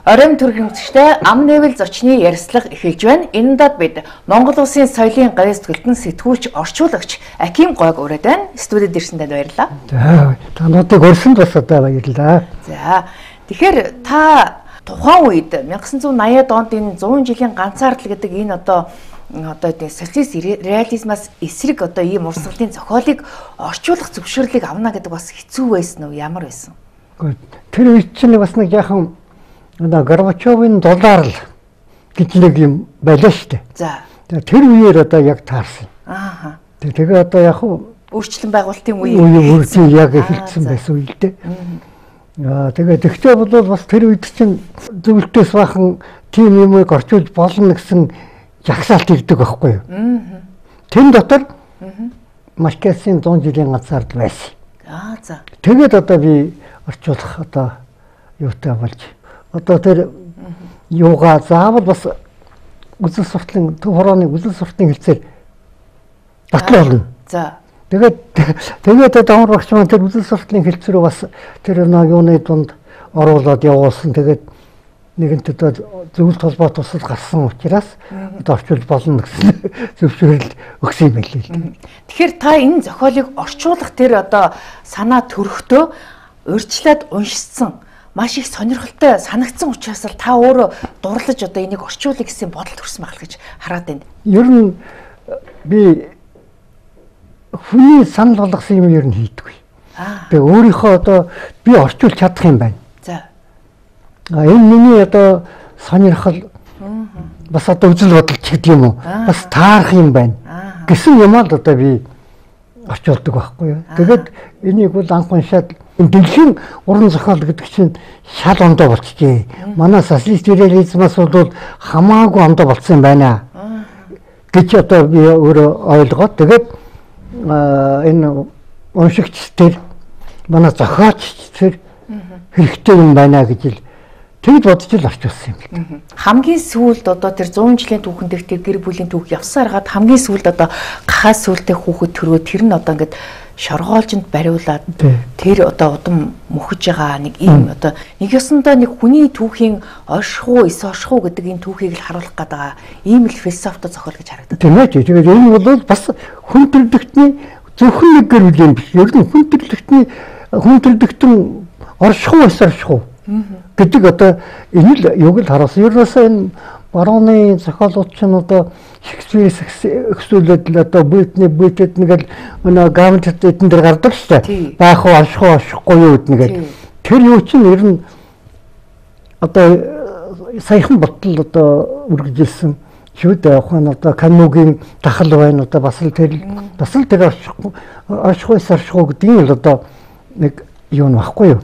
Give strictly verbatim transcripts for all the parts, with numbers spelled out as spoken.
Оройн төрх хэмжигчтэй ам нэвэл зочны ярилцлага эхэлж байна. Энэ удаад бид Монгол Улсын соёлын гавьяас төлтөн сэтгүүлч орчуулагч Аким Гойг ураад байна. Студид ирсэн танд баярлалаа. За, тануудыг өрсөнд бас одоо баярлалаа. За, тэгэхээр та тухайн үед 천구 eighty онд энэ one hundred жилийн ганцаардал гэдэг энэ одоо одоо тийм социалист реализмаас эсрэг одоо ийм урсгалын зохиолыг орчуулах зөвшөөрлийг авна гэдэг бас хэцүү байсан уу? Ямар байсан? Тэр үед чинь бас нэг яахан одоо Горбачевын доллар л гэж нэг юм байлаа шүү дээ. За. Тэр үеэр одоо яг таарсан. Ааха. Тэгээ одоо яг өөрчлөлт байгуулалтын үе үеийн яг эхэлсэн байсан үе л дээ. Аа тэгээ тэгтээ бол бас тэр үед чинь зөвлөлтөөс бахан тийм юмыг орчуулж болно гэсэн жагсаалт ирдэг байхгүй юу? Аа. Тэн дотор Маркесийн one hundred жилийн ганцаардал байсан. Аа за. Тэгээд одоо би орчуулах одоо юутай болж одоо тэр юугаа заавал бас үзэл суртлын төв хорооны үзэл суртын хэлцээр батлаа болно. За. Тэгээд тэгээд давар багш маань тэр үзэл суртлын хэлцээрөө бас тэр нэг юуны дунд оруулаад явуулсан. Тэгээд нэгэнт одоо зөвлөлт холбоо тусал гарсан учраас одоо орчуулж болно гэсэн зөвшөөрөл өгсөн юм байл л. Тэгэхээр та энэ зохиолыг орчуулах тэр одоо санаа төрөхдөө урьдчилаад уншсан маш их сонирхолтой санагдсан учраас л та өөрөө дурлаж одоо энийг орчуулъя гэсэн бодол төрсөн байх гэж хараад байна. Ер нь би хүний санал болгосон юм ер нь хийдэггүй. Тэгээ өөрийнхөө одоо би орчуулж чадах юм байна. За. А энэ миний одоо сонирхол бас одоо үзэл бодол ч гэдэг юм уу? Бас таарах юм байна. Гэсэн юм л одоо би орчуулдаг байхгүй юу. Тэгээд энийг бол анх уншаад дэлхийн уран зохиол гэдэг чинь шал ондоо болчихжээ. Манай социалист реализмаас бол хамаагүй ондоо болцсон юм байна гэж одоо би өөрөө ойлгоод тэгээд энэ уншигч тэр манай зохиолч тэр хэрэгтэй юм байна гэж л тэгж бодож л орчуулсан юм. Хамгийн сүүлд одоо тэр one hundred жилийн түүхэн дэх тэр гэр бүлийн түүх явсаар хагаад хамгийн сүүлд одоо гахаас сүултээ хүүхэд төрөө тэр нь одоо ингээд шоргоолжинд бариулаад тэр одоо удам мөхөж байгаа нэг ийм одоо нэг ёсондоо нэг хүний түүхийн оршихуу эс оршихуу гэдэг энэ түүхийг л харуулах гэдэг ийм л философитой зохиол гэж харагдав. Тийм ээ. Тэгээд энэ бол бас хүн төрлөختний зөвхөн нэг гэр бүлийн биш. Ер нь хүн төрлөختний хүн төрлөختөн оршихуу эс оршихуу гэдэг одоо энэ л юг л харуулсан. Ер нь энэ барууны зохиолууд ч нь одоо Шекспирээс өксүүлээд л одоо бүйтний бүйтэд нэг л өнөө гамтд эдэн дээр гардаг шүү дээ. Баах уу орших уу оршихгүй юу гэдэг нэгээд тэр юу чинь ер нь одоо саяхан ботл одоо үргэлжилсэн шүү дээ. Ухаан одоо Камюгийн тахал байна одоо бас л тэр бас л тэр оршихгүй оршихгүй оршихгүй гэдэг нь л одоо нэг юу нөхгүй юу.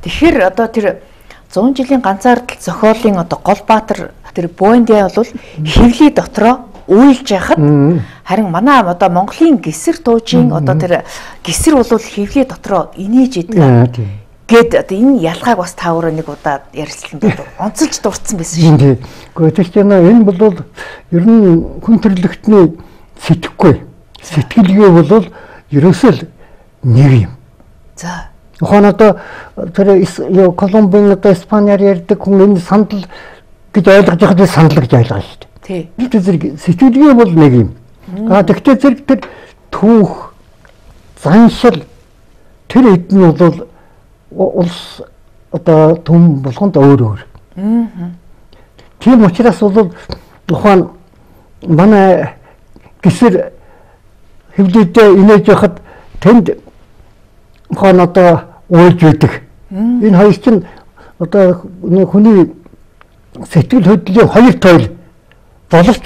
Тэгэхээр одоо тэр one hundred жилийн ганцаардал зохиолын одоо гол баатар тэр Буэндиа бол хэвлий дотроо үйлж яхад харин манай одоо Монголын гисэр туужийн одоо тэр гисэр бол хэвлий дотроо инээж идэг гэд одоо энэ ялгааг бас та өөрөө нэг удаа ярилцсан доо онцолж дурдсан байсан шүү дээ. Гэхдээ тэр чинь энэ бол ер нь хүн төрлөختний сэтгэхгүй сэтгэлгээ бол ерөөсөө л нэг юм. За. Ухаан одоо тэр юу Колумбын одоо Испаниар ярьдаг хүн энэ сандал гэж ойлгож байхад сандал гэж ойлгоо шүү дээ. Тий. Тэр зэрэг сэтгэлгээ бол нэг юм. Аа тэгтээ зэрэг тэр түүх заншил тэр хэд нь бол улс одоо төм болгонд өөр өөр. Аа. Тийм учраас бол ухаан манай гисэр хэвлэлдээ инээж байхад тэнд ухаан одоо уйлж байдаг. Энэ хоёр чинь одоо хүний сэтгэл хөдлөлийн хоёр тойл боловч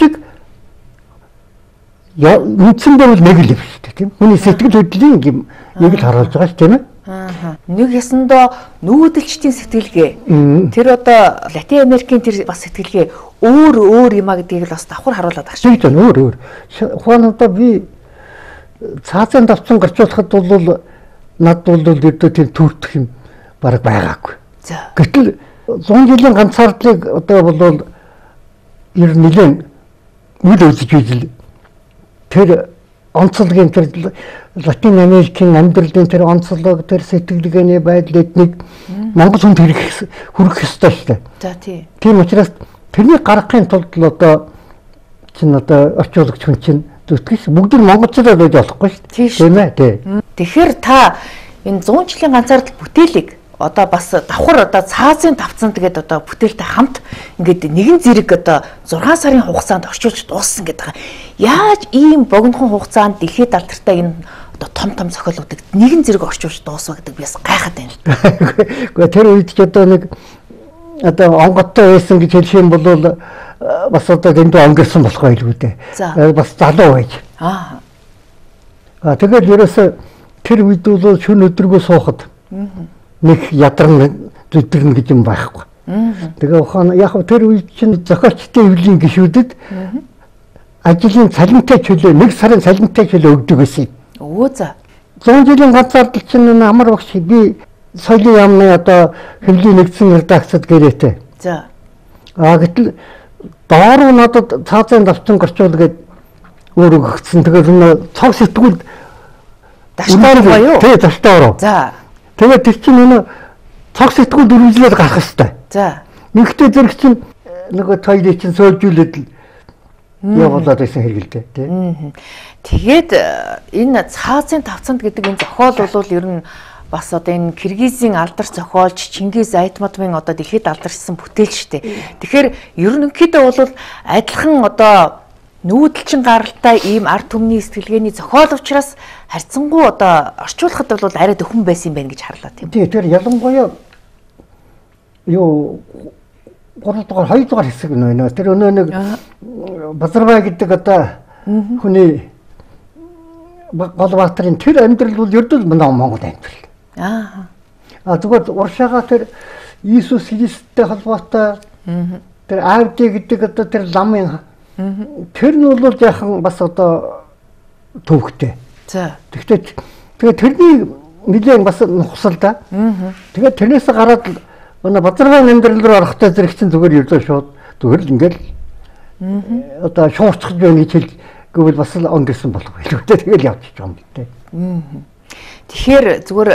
үндсэн дээр бол нэг л юм шүү дээ тийм. Хүний сэтгэл хөдлөлийн юм нэг л харуулж байгаа шүү тийм ээ. Аа. Нэг ясандаа нүүдэлчдийн сэтгэлгээ. Тэр одоо Латин Америкийн тэр бас сэтгэлгээ өөр өөр юм а гэдгийг л бас давхар харуулдаг шүү. Тийм өөр өөр. Ухаан одоо би цаазын давцан гарчуулахад бол над бол өдөө тийм төртөх юм бараг байгаагүй. За. Гэтэл one hundred жилийн ганцаардлыг одоо бол ер нь нэлээд үл үзэж үзэл тэр онцлогийн тэр Латин Америкийн амьдралын тэр онцлог, тэр сэтгэлгээний байдал эднийг Монгол хүнд хүрэх хүрэх ёстой шүү дээ. За тий. Тийм учраас тэрнийг гаргахын тулд л одоо чинь одоо орчуулагч хүн чинь зүтгэж бүгд нь монголчуудад байж болохгүй шүү дээ. Тийм ээ тий. Тэгэхээр та энэ зуун жилийн ганцаардл бүтээлийг одоо бас давхар одоо цаазын давцанд гэдэг одоо бүтээлтэй хамт ингээд нэгэн зэрэг одоо зургаан сарын хугацаанд орчуулж дууссан гэдэг. Яаж ийм богинохон хугацаанд дэлхийд алдартай энэ одоо том том зохиолуудыг нэгэн зэрэг орчуулж дуусна гэдэг би бас гайхаад байна. Гэхдээ тэр үед ч одоо нэг одоо онготтой байсан гэж хэлэх юм бол бас одоо дэндүү өнгөрсөн болох байлгүй дээ. Бас залуу байж. Аа. А тэгээд ерөөсө тэр үед бол шөнө өдргөө суухад нэг ядарна зүдэрнэ гэж юм байхгүй. Тэгээ ухаан яг тэр үед чинь зохиолчтой эвлийн гишүүдэд ажлын цалинтай чөлөө нэг сарын цалинтай чөлөө өгдөг гэсэн. Өө за. зуун жилийн ганцаардл чинь амар багш би соёлын яамны одоо хэвлэлийн нэгдсэн редакцид гэрээтэй. За. А гэтэл доор нь надад цаазын давтан горчуул гээд өөр өгсөн. Тэгээд энэ цог сэтгүүлд дашгаар боёо. Тий, дашгаар. За. Тэгээд тэр чинь энэ цог сэтгүүлд үргэлжлээд гарах хэрэгтэй. За. Нэгтэй зэрэг чинь нөгөө тойлыг чинь сольжүүлээд явуулаад байсан хэрэгэлтэй тий. Тэгээд энэ цаазын тавцанд гэдэг энэ зохиол бол ер нь бас одоо энэ Киргизийн алдарч зохиолч Чингис Айтматовын одоо дэлхийд алдарчсан бүтээл шүү дээ. Тэгэхээр ерөнхийдөө бол адилхан одоо нүүдэлчин гаралтай ийм ард түмний сэтгэлгээний зохиол учраас харьцангуй одоо орчуулахад бол арай дөхөн байсан юм байна гэж харлаа тийм. Тий, тэр ялангуяа юу гурав дахь хоёр дахь хэсэг нь байна. Тэр өнөө нэг Базарбай гэдэг одоо хүний Голбаатарын тэр амьдрал бол ердөө манай Монгол амьдрал. Аа. А зүгээр уршаага тэр Иесус Христтэй холбоотой тэр Авди гэдэг одоо тэр ламын тэр нь бол яахан бас одоо төвхтэй. За. Тэгтээ тэгээ тэрний нэлээд бас нухсал да. Тэгээд тэрнээс гараад манай Базарбай амьдрал руу орохдоо зэрэг чинь зүгээр ердөө шууд зүгээр л ингээл одоо шуурчж байна гэж хэл гэвэл бас л өнгөрсөн болох байлгүй. Тэгэл явчих юм дээ. Тэгэхээр зүгээр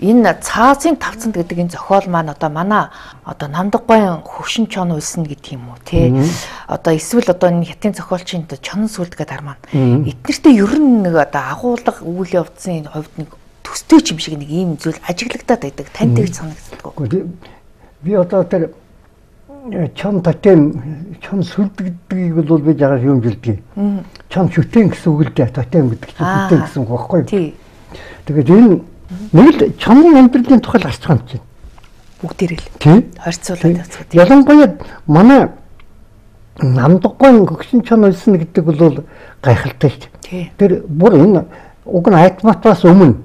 энэ цаазын тавцанд гэдэг энэ зохиол маань одоо манай одоо Намдагбайн хөвшин чон уйлсан гэдэг юм уу тий. Одоо эсвэл одоо энэ хятадын зохиолчийн чонон сүлд гэдэг ар маань эднэртээ ер нь нэг одоо агуулга үйл явдсан хувьд нэг төстэй юм шиг нэг ийм зүйл ажиглагдаад байдаг. Танд тэгж санагддаг. Би одоо тэр чон тотем чон сүлд гэдгийг бол би жагаар юм жилдэг. Чон шүтэн гэсэн үг л дээ. Тотем гэдэг чинь шүтэн гэсэн үг байхгүй юу? Тий. Тэгээд энэ нэг л чонын амьдралын тухай гарч байгаа юм чинь. Бүгдээрээ л. Тий. Харьцуулаад явцгаа. Ялангуяа манай Намдагбайн хөгшин чон уйлсан гэдэг бол гайхалтай шүү дээ. Тэр бүр энэ уг нь Айтматаас өмнө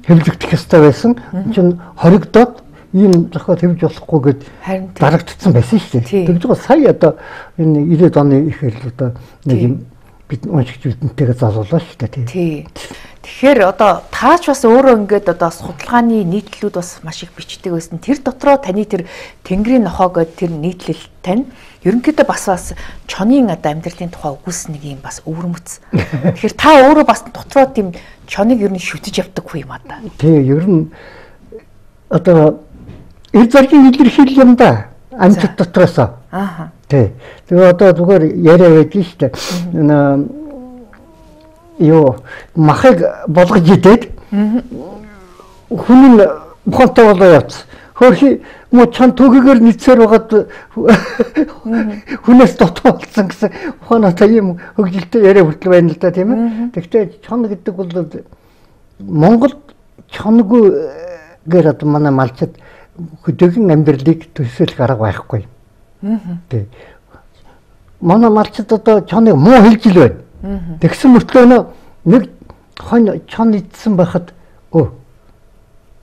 хэвлэгдэх ёстой байсан. Чин хоригдоод ийм зохиол хэвж болохгүй гэд дарагдсан байсан шүү дээ. Тэгж байгаа сая одоо энэ ирээд оны ихээр л одоо нэг юм бид уншигч үдэнтэйгээ залуулаа шүү дээ. Тий. Тэгэхээр одоо таач бас өөрөө ингээд одоо судалгааны нийтлүүд бас маш их бичдэг байсан. Тэр дотроо таны тэр Тэнгэрийн нохоо гэдэг тэр нийтлэл тань ерөнхийдөө бас бас чонын одоо амьдралын тухай өгүүлсэн нэг юм бас өвөрмөц. Тэгэхээр та өөрөө бас дотроо тийм чоныг ер нь шүтэж явдаггүй юм аа да. Тий, ер нь одоо эр заргийн илэрхийлэл юм да. Амьтад дотроос. Аа. Тий. Тэгээ одоо зүгээр яриа байдаг шүү дээ. Энэ юу махыг болгож идээд хүн нь бухантай болоо явц. Хөрхи муу чан төгөөр нийцээр байгаад хүнээс дотоо болсон гэсэн ухаанаа та юм хөгжилтэй яриа хүртэл байна л да тийм ээ. Тэгвэл чон гэдэг бол Монгол чонгүй гэр одоо манай малчид хөдөөгөн амьдралыг төсөөлөх арга байхгүй. Тий. Манай малчид одоо чоныг муу хэлж ил байна. Тэгсэн мөртлөө нэг хон чон идсэн байхад өө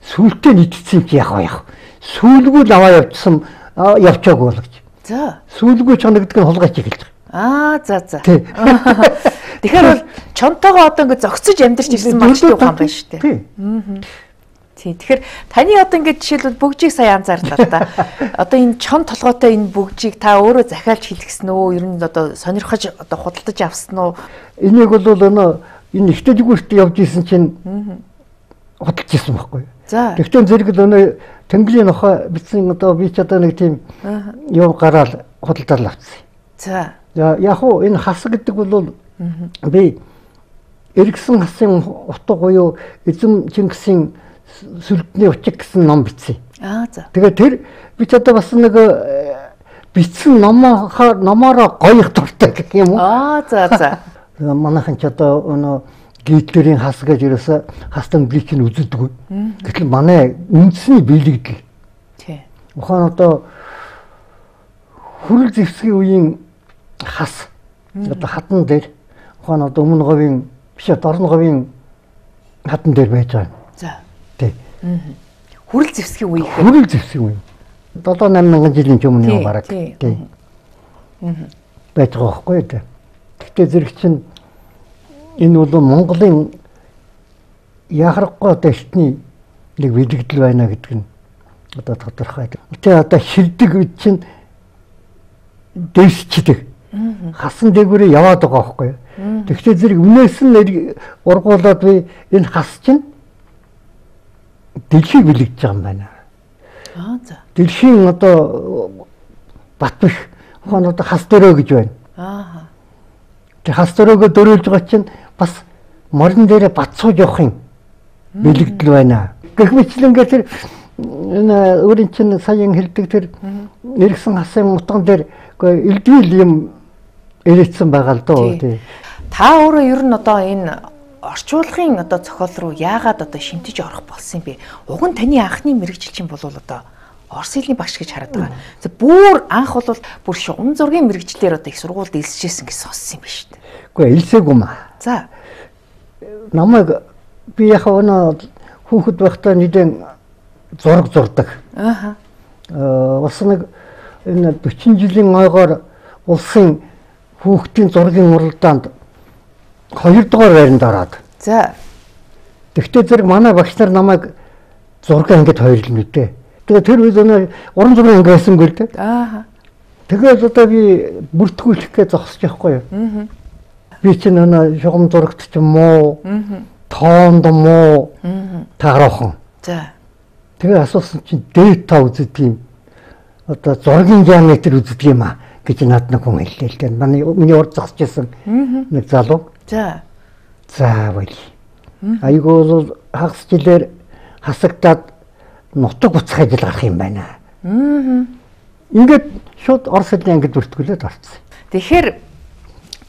сүултээ идсэн чи яах вэ? Сүулгүй л аваа явчихсан явчаагүй бол гэж. За. Сүулгүй чон гэдэг нь хулгайч эхэлж байгаа. Аа за за. Тэгэхээр бол чонтойгоо одоо ингэ зогсож амьдарч ирсэн малчтай ухаан байна шүү дээ. Тий. Тий. Тэгэхээр таны одоо ингэ жишээлбэл бөгжийг сая анзаарлаа та. Одоо энэ чон толгойтой энэ бөгжийг та өөрөө захиалж хэлгэсэн үү? Ер нь одоо сонирхож одоо худалдаж авсан уу? Энийг бол өнөө энэ ихтэй зүгээрт явж исэн чинь худалж исэн байхгүй. За. Тэгтээ зэрэг л өнөө Тэнгэрийн нохой бичсэн одоо би ч одоо нэг тийм юм гараал худалдаад авчихсан. За. Яг уу энэ хас гэдэг бол би Эргэсэн хасын утга буюу Эзэм Чингисийн сүлдний учиг гэсэн ном бичсэн. Аа за. Тэгээ тэр би ч одоо бас нэг бичсэн номоо номороо гоёх дуртай гэх юм уу? Аа за за. Манайхан ч одоо өнөө Гитлерийн хас гэж ерөөсө хастан бличийг үздэг. Гэтэл манай үндэсний биелэгдэл. Тий. Ухаан одоо хүрэл зэвсгийн үеийн хас одоо хатан дээр ухаан одоо өмнө говийн биш дорн говийн хатан дээр байж байгаа. За. Тий. Хүрэл зэвсгийн үе гэхээр хүрэл зэвсгийн үе. долоо найман мянган жилийн өмнө юм бараг. Тий. Байж байгаа байхгүй тий. Гэхдээ зэрэг чинь энэ бол Монголын яхахгүй одоо эртний нэг биелэгдэл байна гэдэг нь одоо тодорхой. Тэгээ одоо шилдэг үед чинь дэвсчдэг. Хасан дээгүүрээ яваад байгаа байхгүй. Тэгвэл зэрэг үнээс нь ургуулад би энэ хас чинь дэлхийг бэлэгдэж байгаа юм байна. Аа за. Дэлхийн одоо бат биш. Ухаан одоо хас дөрөө гэж байна. Аа. Тэг хас дөрөөгөө дөрөөлж байгаа чинь бас морин дээрээ бат сууж явахын бэлэгдэл байна. Гэх мэтлэнгээ тэр энэ өөрийн чинь саяхан хэлдэг тэр Эргэсэн хасын утган дээр элдвэл юм ирээдсэн байгаа л доо тий. Та өөрөө ер нь одоо энэ орчуулгын одоо зохиол руу яагаад одоо шимтэж орох болсон юм бэ? Уг нь таны анхны мэрэгжилчин бол одоо Орос хэлний багш гэж хараад байгаа. За бүр анх бол бүр шугам зургийн мэрэгчлэр одоо их сургуульд элсэжсэн гэж сонссон юм байна шүү дээ. Үгүй элсээгүй маа. За. Намайг би яг өнөө хүүхэд байхдаа нэгэн зураг зурдаг. Ааха. Аа бас нэг энэ дөрвөн жилийн ойгоор улсын хүүхдийн зургийн уралдаанд хоёр дугаар байранд ороод. За. Тэгтээ зэрэг манай багш нар намайг зураг ангид хоёрлол мэдээ. Тэгээ тэр үед өнөө уран зургийн анги байсангүй л дээ. Ааха. Тэгээд одоо би бүртгүүлэх гэж зогсож байхгүй юу? Аа. Би чинь өнөө шугам зурагт ч юм уу? Аа. Тоонд муу? Аа. Таараахан. За. Тэгээ асуусан чинь дата үздэг юм. Одоо зургийн геометр үздэг юм а гэж над нэг хүн хэллээ л дээ. Манай миний урд зогсож байсан нэг залуу. За. За байл. Айгуу бол хагас жилээр хасагдаад нутаг буцах ажил гарах юм байна. Аа. Ингээд шууд Орос хэлний ангид бүртгүүлээд орцсон. Тэгэхээр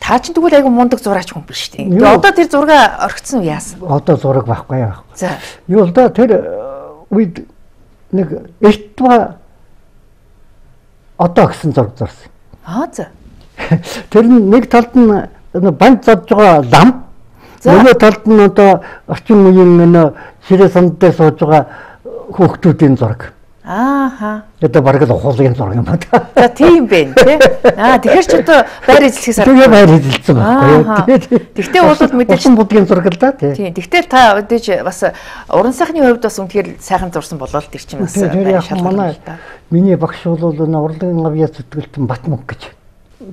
та ч тэгвэл айгу мундаг зураач хүн биш үү? Тэгээ одоо тэр зураг орхицсон уу яасан? Одоо зураг байхгүй яах. За. Юу л да тэр үед нэг эртва одоо гэсэн зураг зурсан. Аа за. Тэр нэг талд нь банд зодж байгаа лам. Нөгөө талд нь одоо орчин үеийн нөө ширээ санд дээр сууж байгаа хүүхдүүдийн зураг. Ааха. Одоо бараг л ухуулгын зураг юм байна. За тийм бэ, тий. Аа тэгэхээр ч одоо байр эзлэхээс арга. Тэгээ байр эзэлсэн байна. Тэгтээ бол мэдээж будгийн зураг л да тий. Тийм. Тэгтээ та мэдээж бас уран сайхны хувьд бас үнэхээр сайхан зурсан болол тэр чинь бас манай миний багш бол нэ урлагийн авьяас зүтгэлтэн Батмөнх гэж.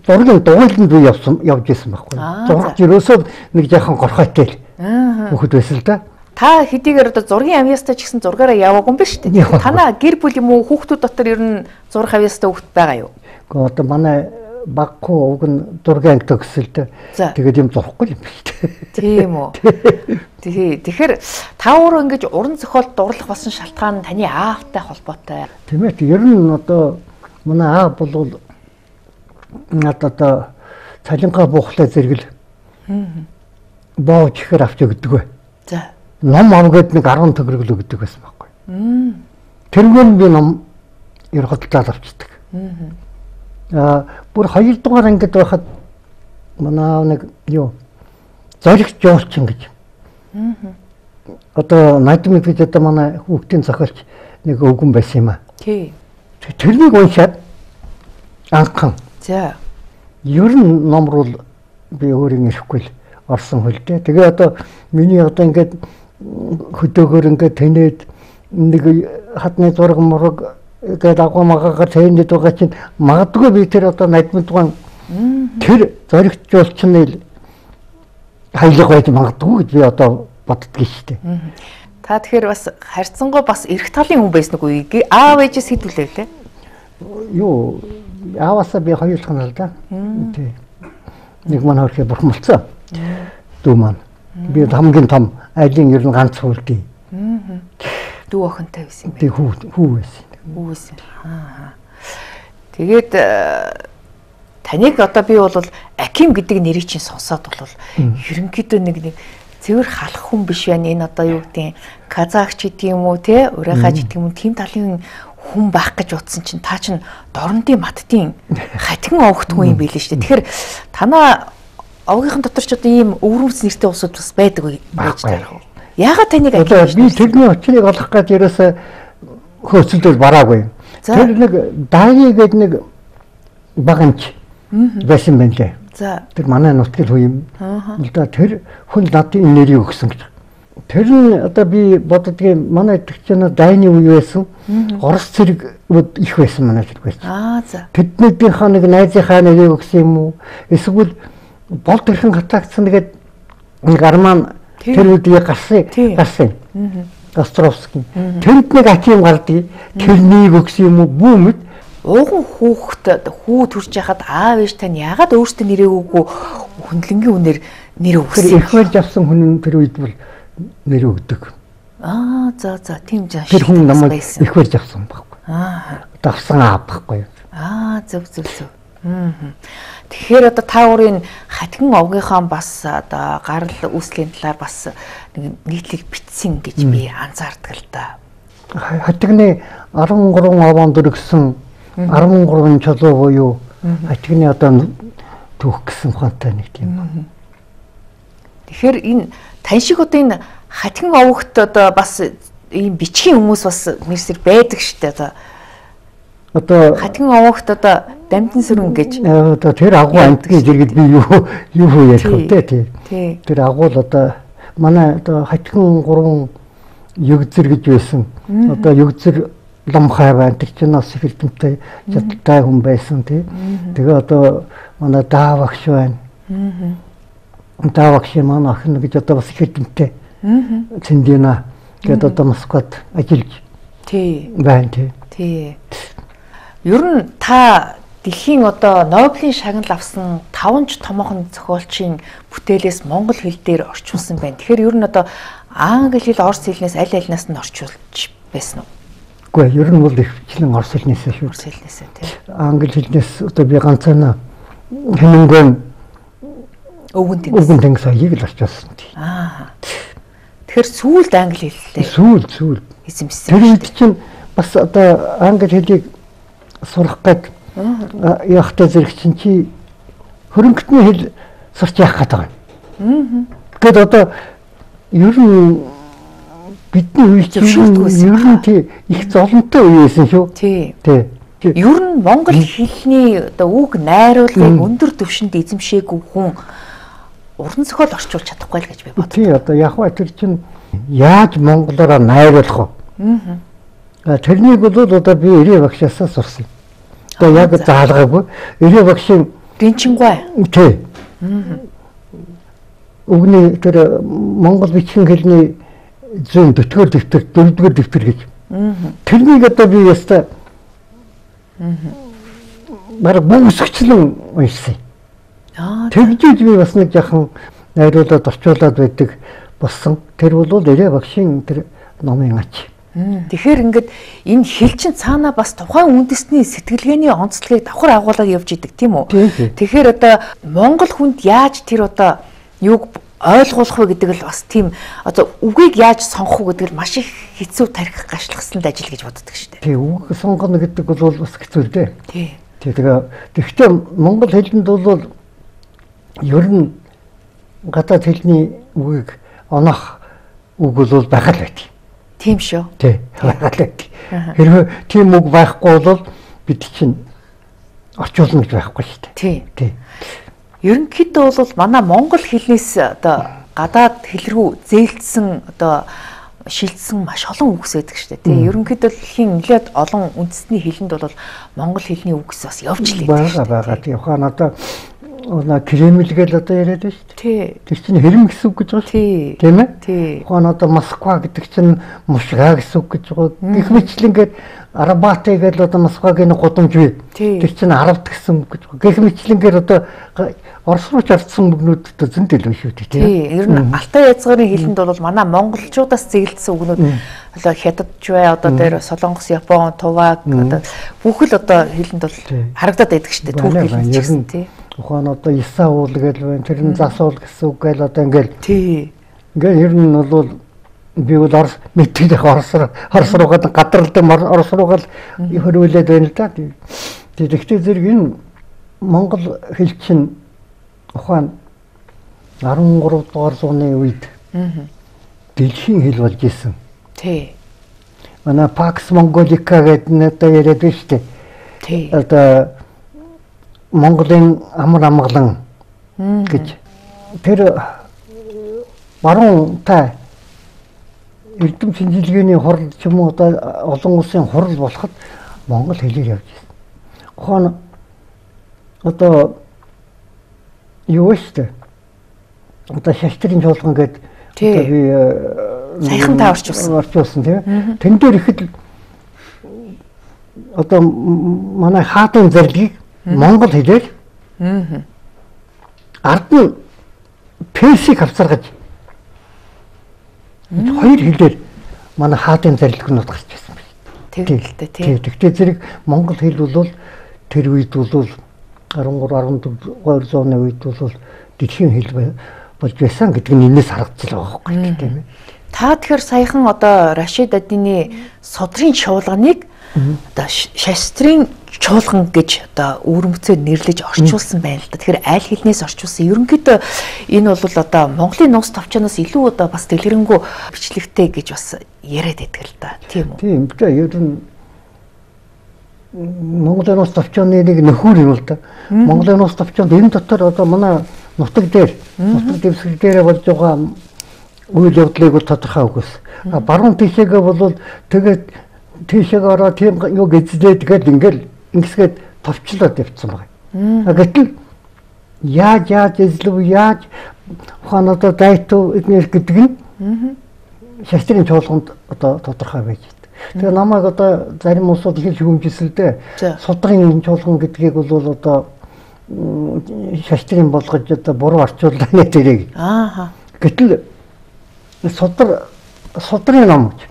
Зургийн дугуйланд би явсан явж исэн байхгүй. Зураг ерөөсөө нэг жаахан горхойтой л. Аа. Хүүхэд байсан л да. Та хэдийгээр одоо зургийн авьяастай ч гэсэн зургаараа яваагүй юм ба шүү дээ. Танаа гэр бүл юм уу хүүхдүүд дотор ер нь зурх авьяастай хүүхд байгаа юу? Гэхдээ одоо манай баггүй уг нь зургийн ангид өгсөлтэй. Тэгээд юм зурхгүй юм ба шүү дээ. Тийм үү. Тий. Тэгэхээр та өөрөө ингэж уран зохиолд дурлах болсон шалтгаан нь таны аавтай холбоотой. Тийм ээ. Ер нь одоо манай аав бол надад одоо цалингаа буухлаа зэрэгэл боож ихэр авч өгдөг бай. За. Ном авгээд нэг арван төгрөг л өгдөг байсан байхгүй. Тэргээр би ном ер хөдөлтөд авчдаг. Аа бүр хоёр дугаар ангид байхад манай нэг юу зоригч жуулчин гэж. Одоо Найдмын бид одоо манай хүүхдийн зохиолч нэг өвгөн байсан юм аа. Тий. Тэрнийг уншаад анхан. За. Ер нь ном руу би өөрийн ирэхгүй л орсон хөлтэй. Тэгээ одоо миний одоо ингээд хөдөөгөр ингээд тэнээд нэг хатны зураг мураг гэдэг агуу магагаар тэнээд байгаа чинь магадгүй би тэр одоо Найдмын дугаан тэр зоригчулчны хаялга байж магадгүй гэж би одоо боддгийг шүү дээ. Та тэгэхээр бас харьцангуй бас эрх талын хүн байсан уу? Аав ээжээс хэдүүлээ лээ. Юу ааваасаа би хоёр дахь л да. Тий. Нэг маань хөрхий бурхамлцсан. Дүү маань. Би хамгийн том айлын ер нь ганц хөлдий. Дүү охинтой байсан юм байна. Тий хүү хүү байсан. Хүү байсан. Аа. Тэгээд таныг одоо би бол Аким гэдэг нэрийг чинь сонсоод бол ерөнхийдөө нэг нэг цэвэр халах хүн биш байна. Энэ одоо юу гэдэг казахч гэдэг юм уу те урайхаж гэдэг юм тийм талын хүн байх гэж утсан чинь та чинь дорнодын маттын хатгин овогт хүн юм билээ шүү дээ. Тэгэхээр танаа овгийнхын дотор ч одоо ийм өвөрмөц нэртэй усуд бас байдаг байж таарах уу? Яагаад таныг Аким би тэрний очрыг олох гэж ерөөсө хөөцөлдөл бараагүй. Тэр нэг Дайни гэдэг нэг багамч байсан байна лээ. За. Тэр манай нутгийн хүн юм. Одоо тэр хүн надад энэ нэрийг өгсөн гэж. Тэр нь одоо би боддгийн манай итгэгчнээ Дайны үе байсан. Орос цэрэг их байсан манай зэрэг байсан. Аа за. Тэднийхээ нэг найзынхаа нэрийг өгсөн юм уу? Эсвэл болд хэрхэн хатагдсан тэгээд нэг арман тэр үеийг гарсан гарсан. Островский. Тэнд нэг Аким гардыг тэрнийг өгсөн юм уу? Бүү мэд ууган хүүхэд хүү төрж яхад аав ээж тань яагаад өөртөө нэрээ өгөө хүндлэнгийн үнээр нэр өгсөн. Их барьж авсан хүн тэр үед бол нэр өгдөг. Аа за за тийм жаа. Тэр хүн намайг их барьж авсан байхгүй. Аа. Давсан аав байхгүй. Аа зөв зөв зөв. Аа. Тэгэхээр одоо та өөрийн хатгин овгийнхаа бас одоо гарал үүслийн талаар бас нэг нийтлэг бичсэн гэж би анзаардаг л да. Хатгины арван гурван овоонд өргсөн арван гурван чулуу буюу хатгины одоо түүх гэсэн ухаантай нэг тийм. Тэгэхээр энэ тань шиг одоо энэ хатгин овогт одоо бас ийм бичгийн хүмүүс бас мэрсэр байдаг шүү дээ одоо. Одоо хатгин овогт одоо дамжин сүрэн гэж одоо тэр агуу амтгийн зэрэгт би юу юу ярих вэ тий. Тэр агуу л одоо манай одоо хатгин гурван югзэр гэж байсан. Одоо югзэр ломхай байна. Тэр чинь бас их эрдэмтэй чадaltaй хүн байсан тий. Тэгээ одоо манай даавагш байна. Даавагш маань охин гэж одоо бас их эрдэмтэй. Цэндина гэдэг одоо Москвад ажиллаж тий байна тий. Тий. Ер нь та дэлхийн одоо Нобелийн шагнал авсан таван ч томоохон зохиолчийн бүтээлээс монгол хэл дээр орчуулсан байна. Тэгэхээр ер нь одоо англи хэл, орос хэлнээс аль алинаас нь орчуулж байсан уу? Үгүй ер нь бол ихчлэн орос хэлнээс шүү. Орос хэлнээс тий. Англи хэлнээс одоо би ганцаана Хемингуэй өвгөн тэнгис. Өвгөн тэнгис хоёрыг л орчуулсан тий. Аа. Тэгэхээр сүүлд англи хэллээ. Сүүл сүүл. Эзэмсэн. Тэр үед чинь бас одоо англи хэлийг сурах гээд явахтай зэрэг чинь чи хөрөнгөтний хэл сурч явах гэдэг байна. Аа. Тэгэд одоо ер нь бидний үе чинь ер нь тий их золонтой үе байсан шүү. Тий. Тий. Ер нь монгол хэлний одоо үг найруулгыг өндөр түвшинд эзэмшээгүй хүн уран зохиол орчуулж чадахгүй л гэж би боддог. Тий одоо яг ба тэр чинь яаж монголоор найруулах вэ? Аа. Тэрнийг бол одоо би Ирээ багшаас сурсан. Одоо яг заалгаагүй Ирээ багшийн Гинчингуай. Тий. Аа. Өгний тэр монгол бичгийн хэлний зүүн дөтгөр дэвтэр, дөрөвдүгээр дэвтэр гэж. Аа. Тэрнийг одоо би яста Аа. Бар бүсгчлэн уншсан. Аа. Тэгжиж би бас нэг яхан найруулад орчуулад байдаг болсон. Тэр бол Ирээ багшийн тэр номын ач. Тэгэхээр ингээд энэ хэл чинь цаана бас тухайн үндэсний сэтгэлгээний онцлогийг давхар агуулад явж идэг тийм үү? Тэгэхээр одоо монгол хүнд яаж тэр одоо юуг ойлгуулах вэ гэдэг л бас тийм одоо үгийг яаж сонгох вэ гэдэг л маш их хэцүү тарих гашлагсанд ажил гэж боддог шүү дээ. Тий, үг сонгоно гэдэг бол бас хэцүү дээ. Тий. Тэгээ тэгэхдээ монгол хэлэнд бол ер нь гадаад хэлний үгийг оноох үг бол байгаа л байдаг. Тийм шүү. Тий. Хэрвээ тийм үг байхгүй бол бид чинь орчуулна гэж байхгүй шүү дээ. Тий. Тий. Ерөнхийдөө бол манай монгол хэлнээс одоо гадаад хэл рүү зээлдсэн одоо шилжсэн маш олон үгс байдаг шүү дээ. Тий. Ерөнхийдөө дэлхийн нэлээд олон үндэсний хэлэнд бол монгол хэлний үгс бас явж л байдаг. Бага бага. Тий. Ухаан одоо Она Кремль гэж одоо яриад байна шүү дээ. Тэр чинь хэрэм гэсэн үг гэж байгаа шүү. Тийм ээ? Ухаан одоо Москва гэдэг чинь Мушга гэсэн үг гэж байгаа. Гэх мэтлэн ингээд Арабатай гэж одоо Москвагийн гудамж бий. Тэр чинь Арабт гэсэн үг гэж байгаа. Гэх мэтлэн ингээд одоо Орос руу чардсан үгнүүд одоо зөндөл байна шүү дээ. Тийм. Ер нь Алтай язгарын хэлэнд бол манай монголчуудаас зэглэсэн үгнүүд одоо Хятадч бай, одоо дээр Солонгос, Япон, Туваг одоо бүх л одоо хэлэнд бол харагдаад байдаг шүү дээ. Түүх хэлэнд ч гэсэн тийм. Ухаан одоо Исаул гэж байна. Тэр нь засуул гэсэн үг гээл одоо ингээл. Тий. Ингээл ер нь бол би бол Орос мэддэг Орос Орос руугаа гадралдаг Орос руугаа хөрвүүлээд байна л да. Тэгэхдээ зэрэг энэ Монгол хэл чинь ухаан арван гурав дугаар зууны үед дэлхийн хэл болж исэн. Тий. Манай Pax Mongolica гэдэг нь одоо яриад байна шүү дээ. Тий. Одоо Монголын амар амгалан гэж тэр баруун та эрдэм шинжилгээний хурал ч юм уу одоо олон улсын хурал болоход монгол хэлээр явж байна. Ухаан одоо юу вэ? Одоо шаштрын чуулган гэдэг одоо би саяхан та орчуулсан. Орчуулсан тийм. Тэн дээр ихэд одоо манай хаадын зарилыг монгол хэлээр ард нь персик авцаргаж хоёр хэлээр манай хаадын зарилгнууд гарч ирсэн байна. Тэгвэл тийм. Тэгтээ зэрэг монгол хэл бол тэр үед бол арван гурав арван дөрөв зууны үед бол дэлхийн хэл болж байсан гэдэг нь энэс харагдаж байгаа байхгүй тийм ээ. Та тэгэхээр саяхан одоо Рашид Адины судрын чуулганыг одоо шастрын чуулган гэж одоо өвөрмөцөөр нэрлэж орчуулсан байна л да. Тэгэхээр аль хэлнээс орчуулсан. Ерөнхийдөө энэ бол одоо Монголын нууц товчоноос илүү одоо бас дэлгэрэнгүй бичлэгтэй гэж бас яриад байдаг л да. Тийм үү? Тийм. Тэгээ ер нь Монголын нууц товчоны нэг нөхөр юм л да. Монголын нууц товчонд энэ дотор одоо манай нутаг дээр нутаг дэвсгэр дээр болж байгаа үйл явдлыг бол тодорхой үгүйс. А баруун тишээгээ бол тэгээд тийшээ ороо тийм юу гэзлээд тэгээд ингээл ингэсгээд товчлоод явцсан байна. Гэтэл яаж яаж эзлэв яаж ухаан одоо дайтуу эднэр гэдэг нь шаштрын чуулганд одоо тодорхой байж байна. Тэгээ намайг одоо зарим улсууд их шүүмжилсэлдээ судрын чуулган гэдгийг бол одоо шаштрын болгож одоо буруу орчууллаа нэ тэрийг. Ааха. Гэтэл судар судрын ном гэж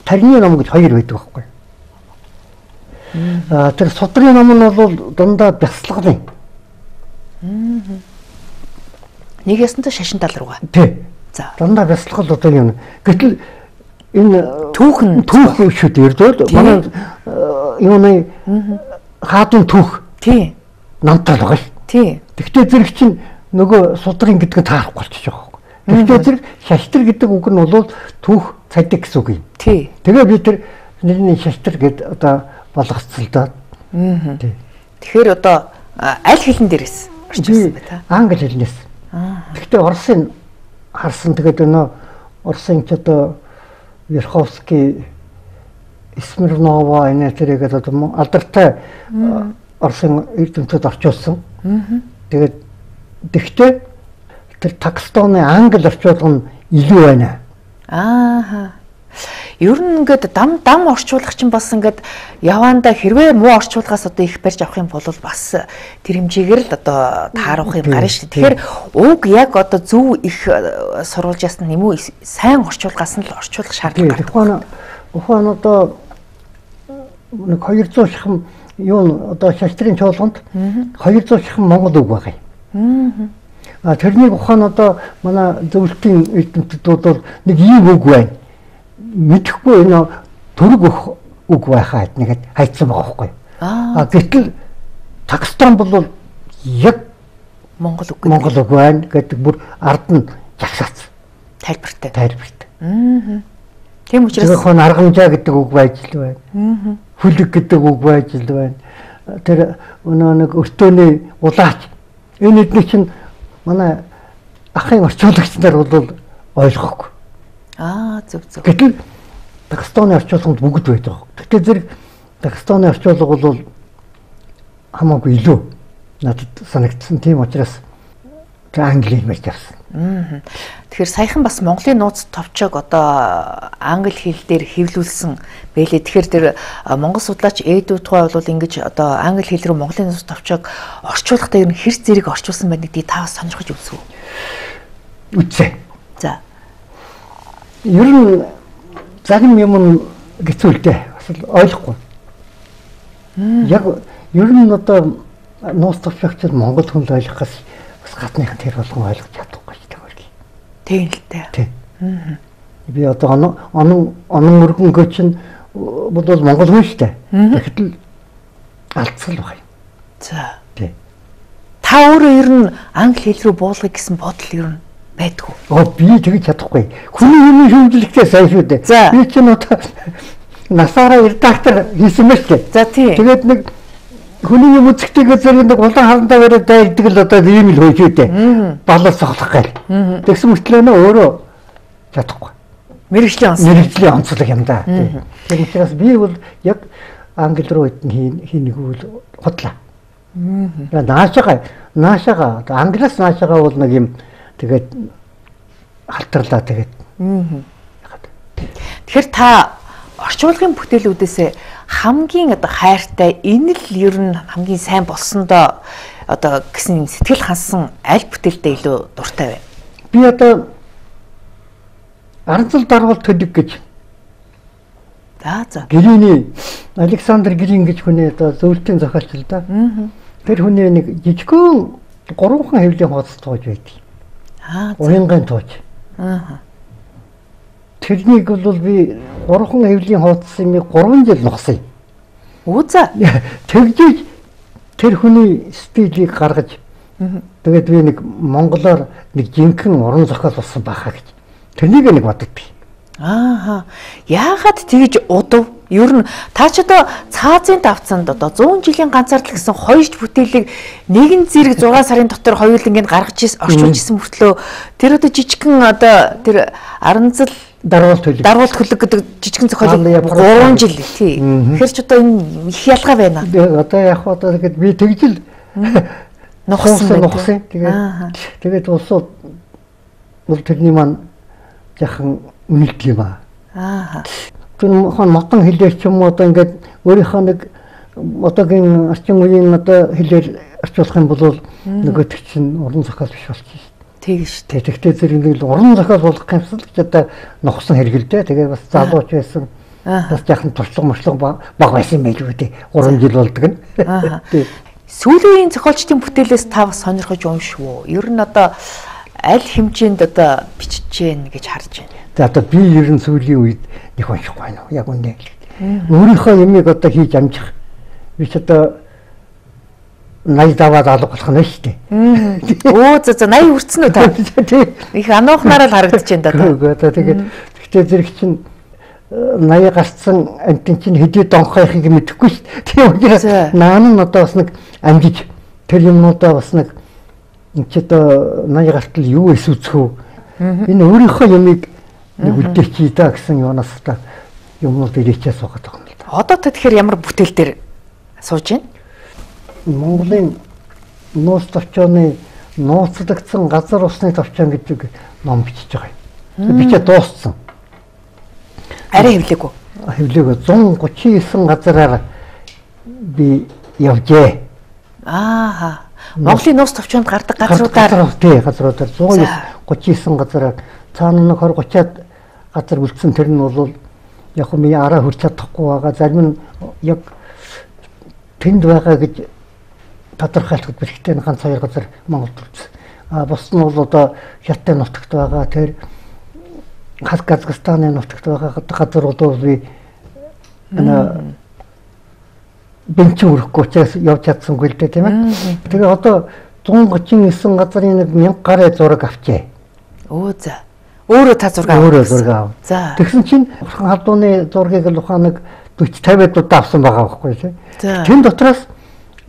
тарины ном гэж хоёр байдаг байхгүй. Аа тэр судрын ном нь бол дандаа бясалгал юм. Нэг ясантай шашин тал руугаа. Тий. За. Дандаа бясалгал одоо юм. Гэтэл энэ түүхэн түүх шүү дээ. Манай юуны хаадын түүх. Тий. Намтал байгаа ш. Тий. Тэгтээ зэрэг чинь нөгөө судрын гэдэг нь таарах болчихж байгаа. Тэгтээ зэрэг шаштар гэдэг үг нь бол түүх цадик гэсэн үг юм. Тий. Тэгээ би тэр нэрний шаштар гэд одоо болгоцолдоо. Аа. Тий. Тэгэхээр одоо аль хэлэн дээрээс орчуулсан бай та? Англи хэлнээс. Аа. Тэгтээ Оросын харсан тэгээд өнөө Оросын ч одоо Верховский Смирнова энэ тэргээд одоо алдартай Оросын эрдэмтэд орчуулсан. Тэгээд тэгтээ тэр Пакистанны англи орчуулга нь илүү байна. Ааха. Ер нь ингээд дам дам орчуулагч нь бас ингээд яваанда хэрвээ муу орчуулгаас одоо их барьж авах юм бол бас тэр хэмжээгээр л одоо тааруулах юм гарна шүү дээ. Тэгэхээр уг яг одоо зөв их сурвалжаас нь юм уу сайн орчуулгаас нь л орчуулах шаардлага гардаг. Ухаан ухаан одоо нэг хоёрдугаар шахам юу одоо шаштрын чуулганд хоёрдугаар шахам монгол үг байгаа юм. Аа тэрнийг ухаан одоо манай зөвлөлтийн эрдэмтдүүд бол нэг ийм үг байна. Мэдхгүй энэ төрөг үг байхаа нэгэд хайцсан байгаа байхгүй. Аа гэтэл Пакистан бол яг монгол үг монгол үг байна гэдэг бүр ард нь жагсаац. Тайлбартай. Тайлбартай. Аа. Тийм учраас зөвхөн аргамжаа гэдэг үг байж л байна. Аа. Хүлэг гэдэг үг байж л байна. Тэр өнөө нэг өртөөний улаач энэ эдний чинь манай ахын орчуулагч нар бол ойлгохгүй. Аа зөв зөв. Гэтэл Пакистаны орчуулганд бүгд байдаг. Тэгтээ зэрэг Пакистаны орчуулга бол хамаагүй илүү надад санагдсан. Тийм учраас англи хэлээр явсан. Тэгэхээр саяхан бас Монголын нууц товчоог одоо англи хэл дээр хэвлүүлсэн байлээ. Тэгэхээр тэр монгол судлаач Эдүү тухай бол ингэж одоо англи хэл рүү Монголын нууц товчоог орчуулахдаа ер нь хэр зэрэг орчуулсан байна гэдгийг та бас сонирхож үзв үү? Үзье. За. Ер нь зарим юм гэцүүлдэ бас ойлгохгүй. Яг ер нь одоо нууц товчоогч монгол хүн л ойлгохоос бас гадныхан тэр болгон ойлгож чадахгүй шүү дээ. Тийм л дээ. Тийм. Би одоо онон онон онон мөргөнгөө чинь бодвол монгол хүн шүү дээ. Тэгэхдээ алдсал баг юм. За. Тийм. Та өөрөө ер нь англи хэл рүү буулгах гэсэн бодол ер нь байдгүй. Оо би тэгж чадахгүй. Хүний юмны хөвжлөгтэй сайн шүү дээ. Би чинь одоо насаараа редактор хийсэн мэт дээ. За тийм. Тэгээд нэг хүний юм үзэгтэйгээ зэрэг нэг улаан харандаа бариад дайрдаг л одоо ийм л хөөж үү дээ. Балаас цохлох гээл. Тэгсэн мөртлөө нөө өөрөө чадахгүй. Мэргэжлийн онцлог. Мэргэжлийн онцлог юм да. Тэр учраас би бол яг англи руу хийнийг үл худлаа. Наашаага наашаага англиас наашаага бол нэг юм тэгээд халтарлаа тэгээд. Тэгэхээр та орчуулгын бүтээлүүдээс хамгийн одоо хайртай энэ л ер нь хамгийн сайн болсондоо одоо гэсэн сэтгэл хансан аль бүтээлдээ илүү дуртай вэ? Би одоо Аранцал даргал төлөг гэж. За за. Гэрээний Александр Гэрийн гэж хүний одоо зөвлөлтийн зохиолч л да. Тэр хүний нэг жижигхэн гурван хэвлийн хуудас тууж байдаг. Аа. Уянгын тууж. Аа. Тэрнийг бол би гурван хэвлийн хуудасыг гурван жил нухсан. Үзэ. Тэгжиж тэр хүний стилийг гаргаж тэгээд би нэг монголоор нэг жинхэнэ уран зохиол болсон байхаа гэж. Тэрнийг нэг боддог. Ааха. Яагаад тэгж удав? Ер нь та ч одоо цаазын давцанд одоо зуун жилийн ганцаардл гэсэн хоёр бүтээлийг нэгэн зэрэг зураг сарын дотор хоёулангийн гаргаж ирсэн орчуулж ирсэн мөртлөө тэр одоо жижигхэн одоо тэр Аранцал дарвал төлөг дарвал төлөг гэдэг жижигхэн зохиолыг гурван жил тий. Тэгэхээр ч одоо энэ их ялгаа байна. Одоо яг одоо тэгээд би тэгжил нухсан нухсан. Тэгээд тэгээд улсууд бол тэрний маань яхан үнэлт юм аа. Аа. Тэр хон мотон хэлээр ч юм уу одоо ингээд өөрийнхөө нэг одоогийн орчин үеийн одоо хэлээр орчуулах юм бол нөгөөт чинь уран зохиол биш болчих. Тийм шүү дээ. Тэгтээ зэрэг нэг уран зохиол болгох юмсал ч одоо нухсан хэрэгэлдэ. Тэгээ бас залууч байсан. Бас яхан туршлага мөрчлөг баг байсан юм байл үү те. гурван жил болдог нь. Аа. Сүүлийн зохиолчдын бүтээлээс та бас сонирхож уншив уу? Ер нь одоо аль хэмжээнд одоо бичиж гэн гэж харж байна. За одоо би ер нь сүүлийн үед нэг уншихгүй байна. Яг үнэ. Өөрийнхөө юмыг одоо хийж амжих. Би ч одоо найз даваад алга болох нь шүү дээ. Оо за за найз хүрцэн үү та? Их анаухнаараа л харагдаж байна да. Одоо тэгээд гэхдээ зэрэг чинь найз гарцсан амтэн чинь хэдий донхойхыг мэдэхгүй шүү дээ. Тийм учраас наан нь одоо бас нэг амжиж тэр юмнуудаа бас нэг энэ ч одоо найз гартал юу эсвэцэх үү? Энэ өөрийнхөө юмыг нэг үлдээчий даа гэсэн юунаас та юмнууд ирээчээ суугаад байгаа юм л да. Одоо та тэгэхээр ямар бүтээл дээр сууж байна? Монголын нууц товчооны нууцлагдсан газар усны товчоон гэдэг ном бичиж байгаа юм. Бичээ дууссан. Арай хэвлээгүй. Хэвлээгүй зуун гучин девять газараар би явжээ. Аа. Монголын нууц товчоонд гардаг газруудаар тий газруудаар зуун гучин девять газараар цаана нэг двадцать тридцать газар үлдсэн тэр нь бол яг хөө ми араа хүрч чадахгүй байгаа. Зарим нь яг тэнд байгаа гэж тодорхойлоход бэрхтээ ганц хоёр газар Монголд үлдсэн. А бус нь бол одоо Хятадын нутагт байгаа тэр Казахстаны нутагт байгаа газрууд бол би ана бенчин өрөхгүй учраас явж чадсангүй л дээ тийм ээ. Тэгээ одоо зуун гучин девять газрын нэг мянга гаруй зураг авчээ. Оо за. Өөрөө та зураг авах. Өөрөө зураг авав. За. Тэгсэн чинь Бурхан халдууны зургийг л ухаан нэг forty fifty удаа авсан байгаа байхгүй тийм. Тэн дотроос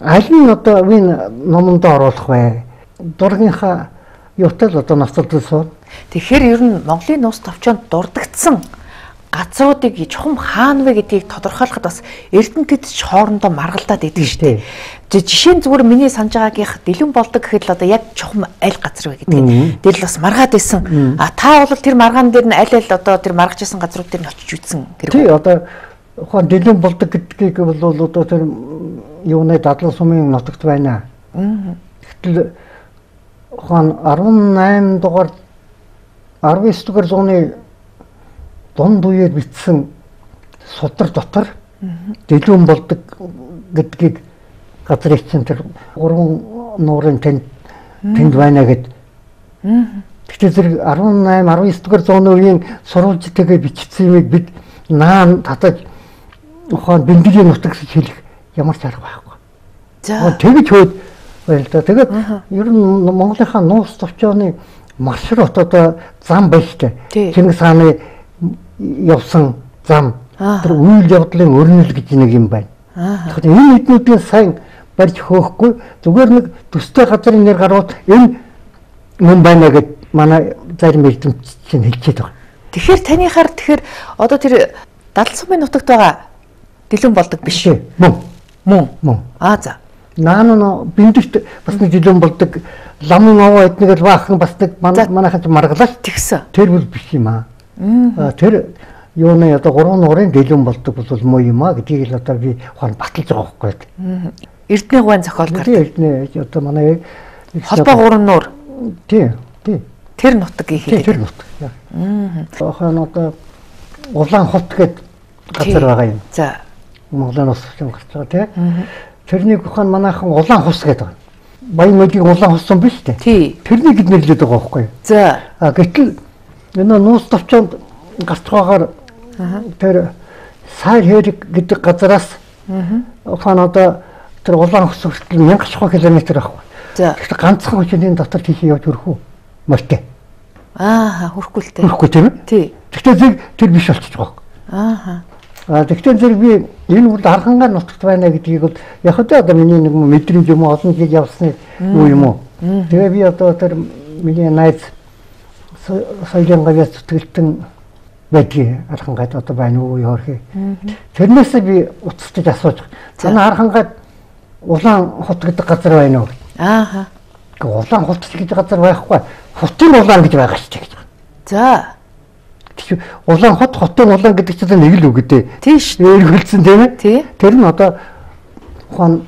аль нь одоо энэ номонд оруулах вэ? Дургийнхаа юутай л одоо ноцолдсон. Тэгэхээр ер нь Монголын нууц товчоонд дурдгдсан газруудыг чухам хаана вэ гэдгийг тодорхойлоход бас эрдэмтэд ч хоорондоо маргалдаад идэг шүү дээ. Жишээ нь зүгээр миний санаж байгаагийнх Дэлгэн болдог гэхэд л одоо яг чухам аль газар вэ гэдгийг дээр л бас маргаад исэн. А та бол тэр маргаан дээр нь аль аль одоо тэр маргаж исэн газрууд дээр нь очиж үзсэн хэрэг. Тий одоо ухаан Дэлгэн болдог гэдгийг бол одоо тэр юуны дадлан сумын нутагт байна. Гэтэл ухаан арван найман дугаар арван девять дугаар зууны дунд үеэр бичсэн судар дотор Дэлгэн болдог гэдгийг газрын чинь тэр гурван нуурын тэнд тэнд байна гэд. Гэхдээ зэрэг арван найман арван девять дугаар зууны үеийн сурвалжтайгээ бичсэн юмыг бид наан татаж ухаан бэлтгэлийн нутагт хэлэх ямар ч арга байхгүй. За тэгж хөөд байл та. Тэгээд ер нь Монголынхаа нуус товчооны маршрут одоо зам байна шүү дээ. Чингис хааны явсан зам тэр үйл явдлын өрнөл гэж нэг юм байна. Тэгэхээр энэ эднүүдийн сайн барьж хөөхгүй зүгээр нэг төстэй газрын нэр гарууд энэ мөн байна гэд манай зарим эрдэмтч чинь хэлчихэд байгаа. Тэгэхээр танихаар тэгэхээр одоо тэр Дадлан сумын нутагт байгаа Дэлгэн болдог биш үү? Мөн. Мөн. Мөн. Аа за. Наан бэндэгт бас нэг Дэлгэн болдог ламын овоо эднэг л баахан бас нэг манайхан ч маргалаач тэгсэн. Тэр бол биш юм аа. Аа тэр юуны одоо гурван нуурын Дэлгэн болдог бол муу юм аа гэдгийг л одоо би ухаан баталж байгаа байхгүй. Эрдэнэ гуайн зохиол гардаг. Тийм эрдэнэ одоо манай холбоо гурван нуур. Тийм тийм. Тэр нутаг гэх юм. Тэр нутаг. Аа. Ухаан одоо Улаан хот гэдэг газар байгаа юм. За. Монголын ус юм гарч байгаа тийм. Тэрнийг ухаан манайхан Улаан хус гэдэг байна. Баян мөдийг Улаан хусан биш үү? Тий. Тэрнийг бид нэрлэдэг байгаа байхгүй юу? За. А гэтэл энэ нуус товчонд гарч байгаагаар тэр Сайр хэрэг гэдэг газараас ухаан одоо тэр Улаан хус хүртэл мянга шахуу километр байхгүй. За. Тэгэхээр ганцхан хүчний дотор тийш явж хөрөх үү? Мөртэй. Аа, хөрөхгүй л дээ. Хөрөхгүй тийм үү? Тий. Гэхдээ зэрэг тэр биш болчихж байгаа. Аа. А тэгэхээр зэрэг би энэ үрд архангаар нутагт байна гэдгийг бол яг одоо одоо миний нэг мэдрэмж юм олон жил явсны юу юм уу. Тэгээ би одоо тэр миний найз соёлын гавьяас зүтгэлтэн байдгийг архангад одоо байна уу яархи. Тэрнээс би уцтаж асууж байгаа. Манай архангад Улаан хот гэдэг газар байна уу? Аа. Улаан хот гэж газар байхгүй. Хотын улаан гэж байгаа шүү дээ. За. Тэгэхээр Улаан хот хотын улаан гэдэг чинь нэг л үг дээ. Тийш. Эргэлцэн тийм ээ. Тий. Тэр нь одоо ухаан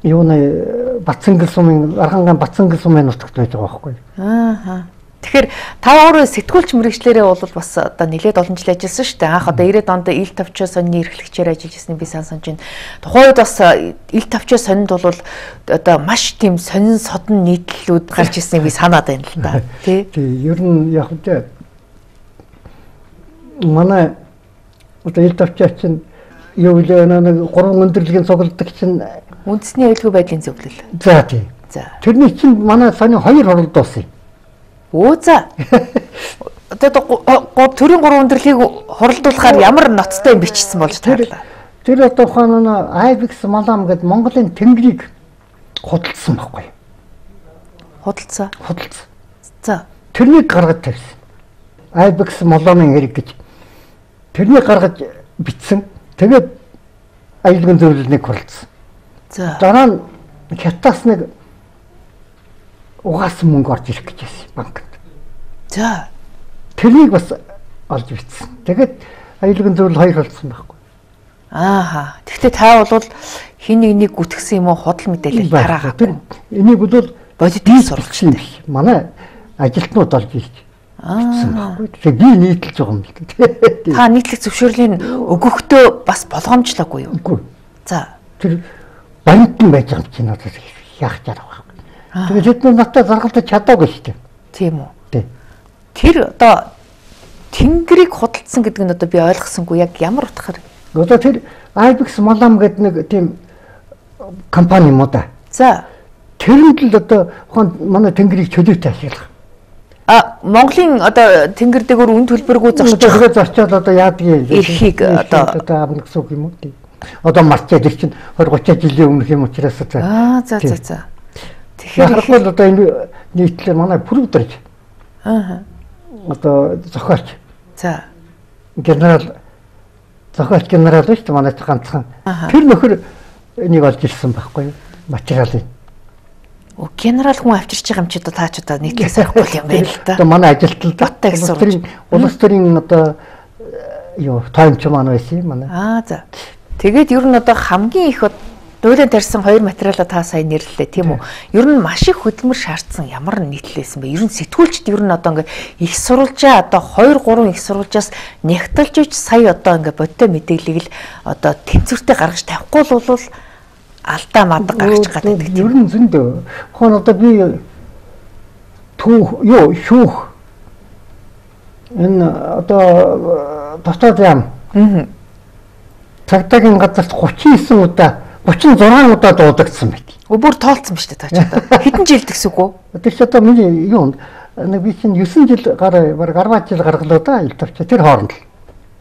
юуны Бацангэл сумын Архангай Бацангэл сумын нутагт байж байгаа байхгүй. Аа. Тэгэхээр та өөрөө сэтгүүлч мэрэгчлэрээ бол бас одоо нэлээд олон жил ажилласан шүү дээ. Анх одоо ирээд онд ил тавчаа сонины эрхлэгчээр ажиллаж ирснийг би сан санаж байна. Тухайн үед бас ил тавчаа сонинд бол одоо маш тийм сонин содон нийтлэлүүд гарч ирснийг би санаад байна л да. Тий. Тий, ер нь яг үгүй манай одоо ил тавчаа чинь юу вэ нэг гурван өндөрлөгийн цугладаг чинь үндэсний аюулгүй байдлын зөвлөл. За тий. За. Тэрний чинь манай сони хоёр хоролд болсон юм. Оо за. Одоо төрийн гурван өндөрлөгийг хоролдуулахаар ямар ноцтой юм бичсэн болж таарлаа. Тэр одоо ухаан Айбекс Малам гэдэг Монголын тэнгэрийг худалдсан байхгүй юу? Худалдсан. Худалдсан. За. Тэрнийг гаргаж тавьсан. Айбекс Маламын хэрэг гэж. Тэрнийг гаргаж бичсэн. Тэгээд аюулгүй зөвлөлийг хурлцсан. За. Дараа нь хятадас нэг угаасан мөнгө орж ирэх гэж байсан банкнд. За. Тэрнийг бас олж бичсэн. Тэгээд аюулгүй зөвлөл хоёр болсон байхгүй. Ааха. Тэгэхдээ та бол хин нэг нэг гүтгсэн юм уу худал мэдээлэл тараагаа. Энийг бол бодит сурвалжтай биш. Манай ажилтнууд олж ирж бичсэн байхгүй. Тэгэхээр би нийтэлж байгаа юм л дээ. Та нийтлэг зөвшөөрлийн өгөхдөө бас болгоомжлоогүй юу? Үгүй. За. Тэр банкн байж байгаа юм чинь одоо яах чарах байхгүй. Тэгээд тэд надад заргалдаж чадаагүй шүү дээ. Тийм үү? Тий. Тэр одоо тэнгэрийг худалдсан гэдэг нь одоо би ойлгосонгүй яг ямар утгаар? Одоо тэр Айбекс Малам гэдэг нэг тийм компани юм уу да. За. Тэрэнд л одоо ухаан манай тэнгэрийг чөлөөтэй ашиглах. А Монголын одоо тэнгэр дээгүүр үн төлбөргүй зорчих. Тэгэхээр зорчоод одоо яадгийг эрхийг одоо одоо авна гэсэн үг юм уу тий. Одоо марчаад ир чинь двадцать тридцать жилийн өмнөх юм учраас за. Аа за за за. Тэгэхээр бол одоо энэ нийтлэр манай продюсерч. Аа. Одоо зохиолч. За. генерал зохиолч генерал биш үү манай ганцхан. Тэр нөхөр энийг олж ирсэн байхгүй юу? Материалыг. Оо генерал хүн авчирч байгаа юм чи одоо таа ч одоо нийтлээ сарахгүй юм байна л да. Одоо манай ажилтнууд Баттай гэсэн улс төрийн улс төрийн одоо юу таймч маань байсан юм манай. Аа за. Тэгээд ер нь одоо хамгийн их дуулан тарьсан хоёр материалаа та сайн нэрлэлээ тийм үү? Ер нь маш их хөдөлмөр шаардсан ямар нийтлээсэн бэ? Ер нь сэтгүүлчд ер нь одоо ингээ их сурвалжаа одоо хоёр гурван их сурвалжаас нягтлж ич сая одоо ингээ бодтой мэдээллийг л одоо тэнцвэртэй гаргаж тавихгүй л бол алдаа мадаг гаргаж гадаг гэдэг. Ер нь зөндөө. Хон одоо би түүх юу шүүх энэ одоо дотоод яам. Аа. Цагтаагийн газарт гучин девять удаа гучин зургаан удаа дуудагдсан байт. Өөр тоолцсон ба шүү дээ та ч одоо. Хэдэн жил гэсэн үг үү? Тэр ч одоо миний юу нэг би чинь девять жил гараа баг арваад жил гаргалаа да ил тавч тэр хооронд л.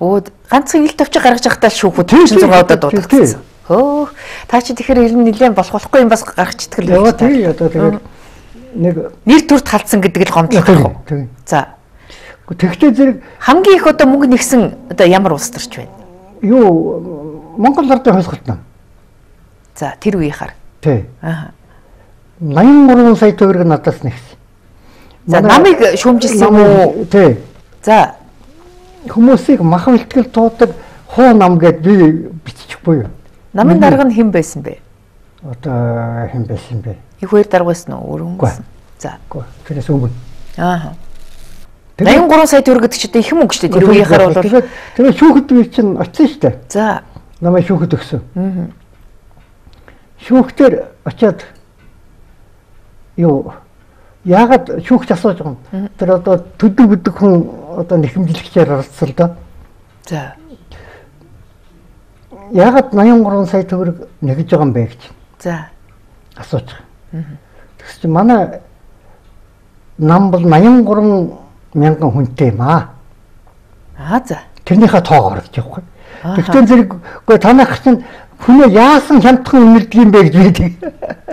Оо ганцхан ил тавч гаргаж явахдаа шүүхүүд гучин зургаан удаа дуудагдсан. Хөө та чи тэгэхээр ер нь нэлээд болох болохгүй юм бас гаргачдаг л байна. Тий одоо тэгээд нэг нэр төрд халдсан гэдэг л гомдлох юм. За. Тэгтээ зэрэг хамгийн их одоо мөнгө нэгсэн одоо ямар улс төрч байна? Юу Монгол ардын хойсголт нам. За тэр үеийнхаар. Тий. Аа. восемьдесят три сая төгрөг надаас нэгсэн. За намыг шүүмжилсэн үү? Тий. За хүмүүсийг махан илтгэл туудаг хуу нам гэд би биччихгүй юу? Намын дарга нь хэн байсан бэ? Одоо хэн байсан бэ? Их хоёр дарга байсан уу? Өөр хүмүүс. За. Тэрээс өмнө. Аа. восемьдесят три сая төгрөг гэдэг чинь их мөнгө шүү дээ. Тэр үеийнхаар бол тэгээд тэгээд шүүхэд би чинь очсон шүү дээ. За. Намайг шүүхэд өгсөн. Аа. Шүүхтэр очиад юу яагаад шүүхч асууж байгаа юм? Тэр одоо төдөг бүдэг хүн одоо нэхэмжлэгчээр оролцсон л доо. За. Яагаад восемьдесят три сая төгрөг нэгж байгаа юм бэ гэж. За. Асууж байгаа. Тэгс чи манай нам бол восемьдесят три мянган хүнтэй юм аа. Аа за. Тэрнийхээ тоогоор гэж явахгүй. Тэгтээ зэрэг үгүй танах чинь хүнээ яасан хямдхан үнэлдэг юм бэ гэж би.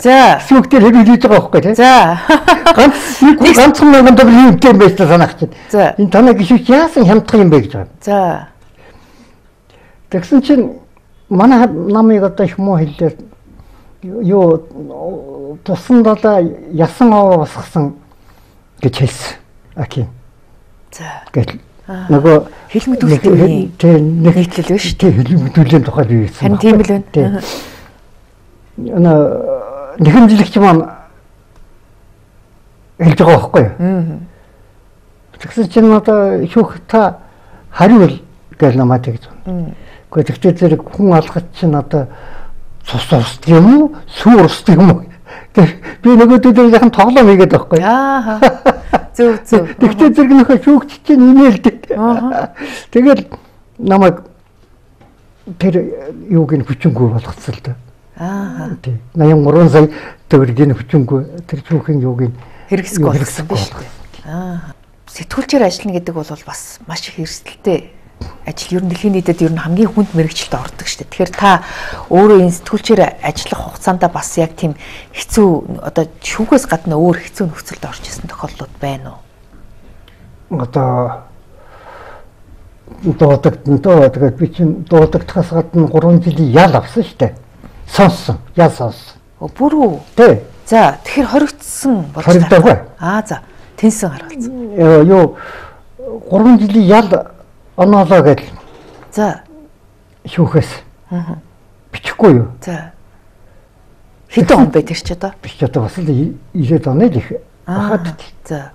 За. Шүүхтэр хэлж байгаа байхгүй тийм. За. Ганц нэг ганцхан мянган төгрөг юм тийм байж танах чинь. За. Энэ танаа гişүүч яасан хямдхан юм бэ гэж байгаа. За. Тэгсэн чинь манай намыг одоо их муу хэллээ. Юу тусан далаа ясан аваа басгасан гэж хэлсэн. Аки. За. Гэл нөгөө хэлмэдүүлэлтийн нийтлэл биш үү? Тийм хэлмэдүүллийн тухай би хэлсэн. Харин тийм л байна. Ана нэхэмжлэгч маань хэлж байгаа байхгүй юу? Аа. Тэгсэн чинь одоо шүүх та хариул гэж намайг тэгж байна. Гэхдээ тэгтээ зэрэг хүн алхаж чинь одоо цус урсдаг юм уу? Сүү урсдаг юм уу? Би нөгөөдөө яхан тоглоом хийгээд байхгүй юу? Аа. Зөв зөв. Тэгтээ зэрэг нөхө шүүгч чинь инээлдэг. Аа. Тэгэл намайг тэр юуг нь хүчингүй болгоцсон л да. Аа. Тий. восемьдесят три сая төгрөгийн хүчингүй тэр шүүхийн юуг нь хэрэгсэх болсон биш үү? Аа. Сэтгүүлчээр ажиллана гэдэг бол бас маш их эрсдэлтэй ажил. Ер нь дэлхийн нийтэд ер нь хамгийн хүнд мэрэгчлэлд ордог шүү дээ. Тэгэхээр та өөрөө энэ сэтгүүлчээр ажиллах хугацаанд бас яг тийм хэцүү одоо шүүхээс гадна өөр хэцүү нөхцөлд орж исэн тохиолдлууд байна уу? Одоо дуудаг доо тэгээд би чинь дуудагдахаас гадна гурван жилийн ял авсан шүү дээ. Сонссон. Ял сонссон. Оо бүр үү? Тий. За тэгэхээр хоригдсан болж байна. Хоригдоогүй. Аа за. Тэнсэн гаргалцсан. Юу гурван жилийн ял оноолоо гэж. За. Шүүхээс. Аа. Бичихгүй юу? За. Хэдэн он бэ тэр ч одоо? Би ч одоо бас л ирээд оноо л их бахад. За.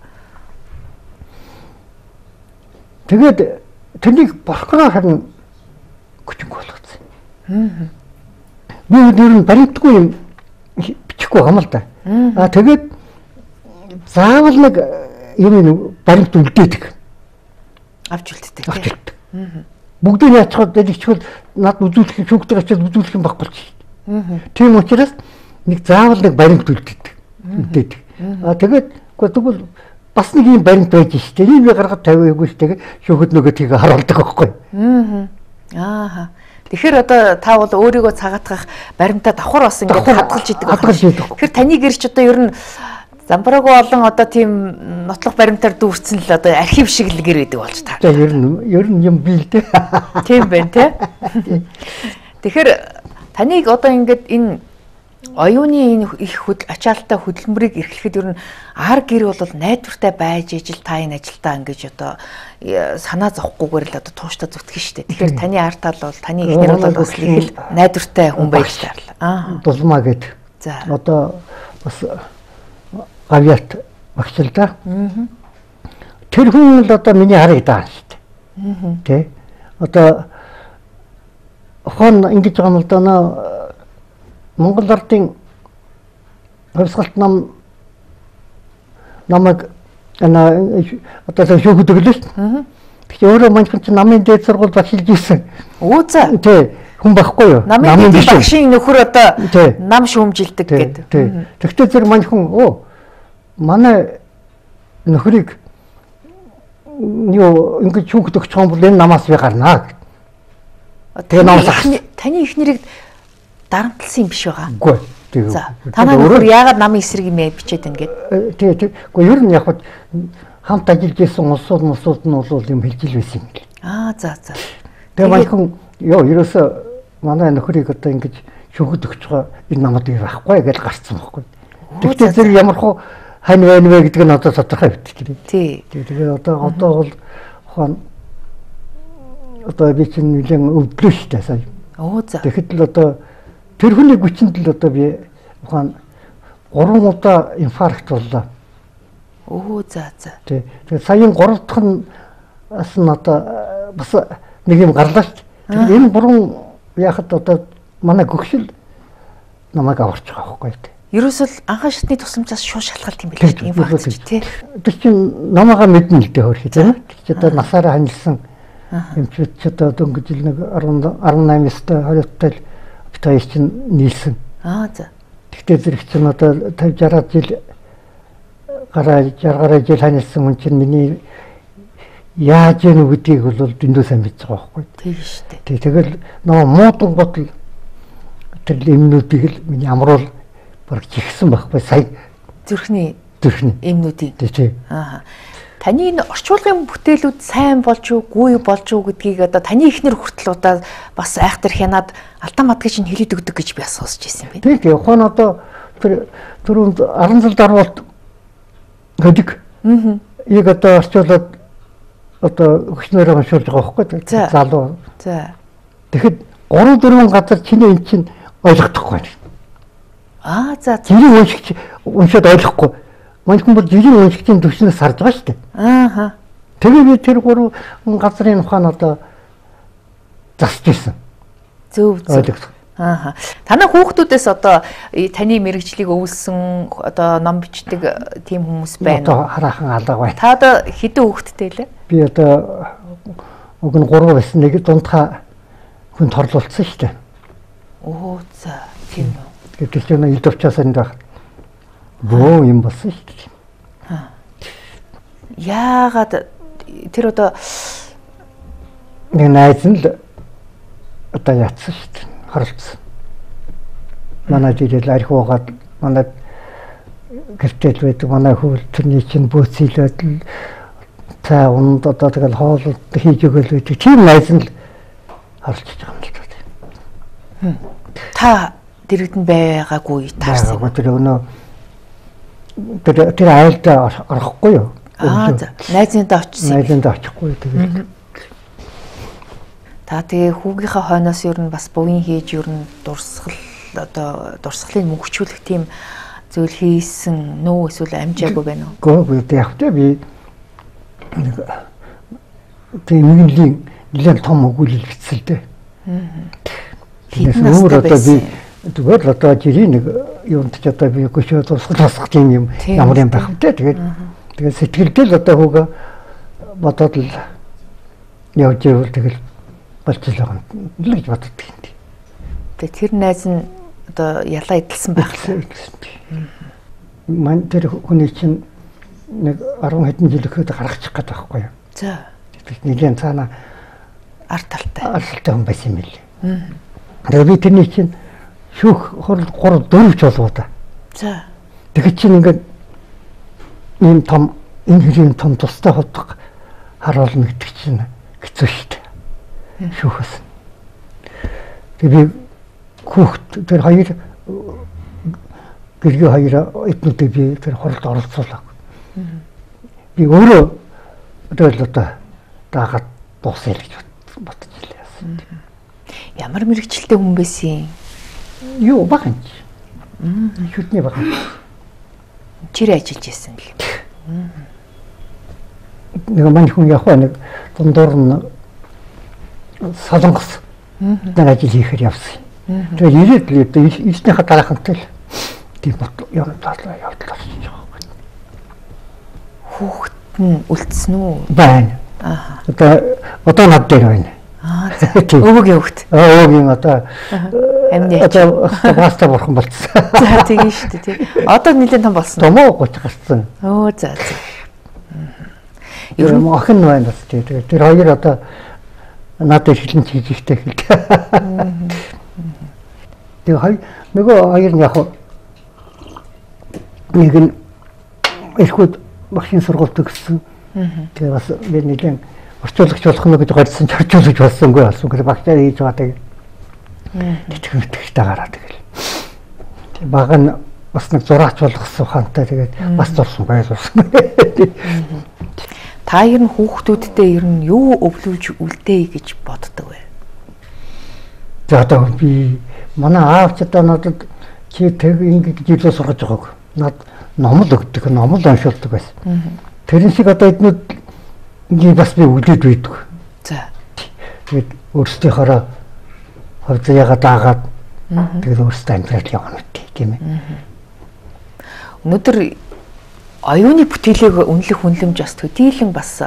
Тэгээд тэрнийг борхороо харин хүчингүй болгоцсон. Аа. Би өөр нь баримтгүй юм бичихгүй юм л да. Аа тэгээд заавал нэг юм баримт үлдээдэг. Авч үлддэг. Авч үлддэг. Бүгдийг яачаад дэлгэчвэл над үзүүлэх шүүгтэй очиод үзүүлэх юм байхгүй ч. Тийм учраас нэг заавал нэг баримт үлдээдэг. Үлдээдэг. Аа тэгээд тэгвэл бас нэг юм баримт байж штэ. Энийг гаргаж тавиагүй штэ. Шүүхэд нөгөө тийг харуулдаг байхгүй. Аа. Аа. Тэгэхээр одоо та бол өөрийгөө цагаатгах баримтаа давхар бас ингээд хадгалж идэг. Хадгалж идэг. Тэгэхээр таны гэрч одоо ер нь Замбраагүй олон одоо тийм нотлох баримтаар дүүрсэн л одоо архив шиг л гэр байдаг болж таа. За ер нь ер нь юм бий л дээ. Тийм байна тий. Тэгэхээр таныг одоо ингээд энэ оюуны энэ их хөдөл ачаалттай хөдөлмөрийг эрхлэхэд ер нь ар гэр бол найдвартай байж ижил та энэ ажилдаа ингэж одоо санаа зовхгүйгээр л одоо тууштай зүтгэн штэ. Тэгэхээр таны ар тал бол таны эхнэр бол бас их л найдвартай хүн байж таарлаа. Аа. Дулмаа гэд. За. Одоо бас гавьяат багш л да. Аа. Тэр хүн л одоо миний харыг даана штэ. Аа. Тэ. Одоо хон ингэж байгаа юм л да наа Монгол ардын хувьсгалт нам намайг ана одоо шүүх өдөглөж. Аа. Тэгэхээр өөрөө маньхан чи намын дээд сургууль багшилж ирсэн. Оо за. Тий. Хүн байхгүй юу? Намын багшийн нөхөр одоо нам шүүмжилдэг гэдэг. Тий. Тэгвэл зэрэг маньхан оо манай нөхрийг юу ингэж шүүх өгч байгаа бол энэ намаас би гарнаа. Тэгээ намаас таны ихнэрийг дарамтлсан юм биш байгаа. Үгүй. Тэгээ. За. Танаа нөхөр яагаад намын эсрэг юм бичээд байна гээд. Тий, тий. Үгүй ер нь яг хамт ажиллаж исэн улсууд мусууд нь бол юм хэлж ил байсан юм гээл. Аа за за. Тэгээ манайхан ёо ерөөсө манай нөхрийг одоо ингэж шүүхэд өгч байгаа энэ намад юу байхгүй гэж гарцсан байхгүй. Тэгтээ зэрэг ямар хуу хань байна вэ гэдэг нь одоо тодорхой битгий. Тий. Тэгээ одоо одоо бол хон одоо би чинь нэгэн өвдлөө штэ сая. Оо за. Тэгэхэд л одоо тэр хүний хүчинд л одоо би ухаан гурван удаа инфаркт боллоо. Оо за за. Тий. Тэгээ саяын гурав дахь нь бас нь одоо бас нэг юм гарлаа шүү дээ. Энэ гурван яхад одоо манай гөгшил намайг аварч байгаа байхгүй тий. Ерөөсөл анхан шатны тусламжаас шууд шалгалт юм билээ шүү дээ. Инфаркт тий. Тэр чинь намайгаа мэднэ л дээ хөрхий тий. Чи одоо насаараа ханилсан юм чи одоо дөнгөж ил нэг арван найман өстой хориоттой битээ чинь нийлсэн. Аа за. Тэгтээ зэрэг чинь одоо тавьж араад жил гараа жаргараа жил ханилсан хүн чинь миний яаж яах гэдгийг бол дэндүү сайн мэдж байгаа байхгүй. Тийм шүү дээ. Тэг тэгэл нөө муудан готл тэр эмнүүдийг л миний амруул баг жигсэн байхгүй сая зүрхний зүрхний эмнүүдийг. Тий. Аа. Таны энэ орчуулгын бүтээлүүд сайн болж юу, гүй болж юу гэдгийг одоо таны ихнэр хүртэл удаа бас айхтар хянаад алдаа мадгаж нь хэлээд өгдөг гэж би асуусч ирсэн байна. Тий, ухаан одоо тэр түрүүнд арван зал дарвалт гэдэг. Аа. Яг одоо орчуулад одоо өгснөөр уншуулж байгаа байхгүй залуу. За. Тэгэхэд гурван дөрвөн газар чиний эн чинь ойлгохгүй байна. Аа за. Жирийн уншигч уншаад ойлгохгүй. Манайхан бол жирийн уншигчийн төвшнөөс харж байгаа шүү дээ. Аа. Тэгээ би тэр гурван газрын ухаан одоо засч ирсэн. Зөв зөв. Аа. Танай хүүхдүүдээс одоо таны мэрэгжлийг өвлсөн одоо ном бичдэг тийм хүмүүс байна уу? Одоо хараахан алга байна. Та одоо хэдэн хүүхэдтэй лээ? Би одоо уг нь гурван байсан нэг дундхаа хүн торлуулсан шүү дээ. Оо за тийм үү. Гэтэл ч нэг ил төвчээс энэ байх. Бөө юм болсон шүү дээ. Аа. Яагаад тэр одоо нэг найз нь л одоо яатсан шүү дээ. Харалцсан. Манай дээл арх уугаад манай гэртэл байдаг манай хөл тэрний чинь бөөцөлөөд л цаа унд одоо тэгэл хоолд хийж өгөөл байдаг. Тийм найз нь л харалцж байгаа юм л дээ. Та дэрэгдэн байгаагүй таарсан. Тэр өнөө тэр тэр айлд орохгүй юу? Аа за. Найзынтай очсон. Найзынтай очихгүй тэгээд. Та тэгээ хүүгийнхаа хойноос ер нь бас бовын хийж ер нь дурсгал одоо дурсгалыг мөнгөчүүлэх тийм зүйл хийсэн нөө эсвэл амжаагүй байна уу? Гоо би яг тэ би тийм нэгэн нэлээд том өгүүлэл бичсэн л дээ. Хэдэн настай байсан? Тэгвэл одоо жирийн нэг юунд ч одоо би гүшөө тусгал тусгах юм ямар юм байх вэ? Тэгээд тэгээд сэтгэлдэл одоо хүүгээ бодоод л явж ивэл тэгэл болчихлоо юм л гэж боддог юм. Тэгээд тэр найз нь одоо ялаа идэлсэн байх л. Ман тэр хүний чинь нэг арван хэдэн жил өгөхөд гаргачих гээд байхгүй юу? За. Тэгээд нэгэн цаана арт талтай. Арт талтай хүн байсан юм билээ. Тэгээд би тэрний чинь шүүх хурал гурав дөрвч болоо да. За. Тэгэхэд чинь ингээд ийм том энэ хэрийн том тустай ходог харуулна гэдэг чинь хэцүү шүү дээ. Шүүхээс. Тэгээ би хүүхд тэр хоёр гэргийн хоёр эднүүдийг би тэр хуралд оролцуулав. Би өөрөө тэгэл одоо дагаад дуусъя гэж бодож илээ. Ямар мэрэгчлээ хүн байсан? Юу багч. Шүтний баг. Чир ажиллаж байсан л. Нэг маань хүн яг нэг дундуур нь солонгос нар ажил хийхээр явсан. Тэгээд ирээд л одоо ирснийхаа дараахантай л тийм бот юм таалаа явдлаа хийж байгаа. Хүүхэд нь үлдсэн үү? Байна. Аа. Одоо одоо над дээр байна. Аа. Өвөгийн хүүхэд. Аа өвөгийн одоо амны одоо паста бурхан болцсон. За тийм шүү дээ тий. Одоо нэлээд том болсон. Томоо гоч гарсан. Оо за за. Ер нь охин байна бас тий. Тэгээд тэр хоёр одоо надад хэлэн хийж ихтэй хэл. Тэгээ хоёр нөгөө хоёр нь яг нэг нь эхүүд багшийн сургуульд төгссөн. Тэгээ бас би нэгэн орчуулагч болох нь гэж гарсан орчуулагч болсонгүй болсон. Тэгээ багшаар хийж байгаа тэгээ. Тэтгэн итгэжтэй гараад тэгэл. Тэгээ баг нь бас нэг зураач болгосон ухаантай тэгээд бас зурсан байлуулсан. Та ер нь хүүхдүүддээ ер нь юу өвлүүлж үлдээе гэж боддог вэ? За одоо би манай аавч одоо надад чи тэг ингэж илүү сургаж байгааг. Над номл өгдөг, номл уншуулдаг байсан. Тэрэн шиг одоо эднүүд ингэ бас би үлдээд байдаг. За. Тэгээд өөрсдийнхоороо хөвдөяга даагаад тэгээд өөрсдөө амьдрал явна гэдэг тийм ээ. Өнөөдөр оюуны бүтээлийг үнэлэх үнэлэмж бас төдийлөн бас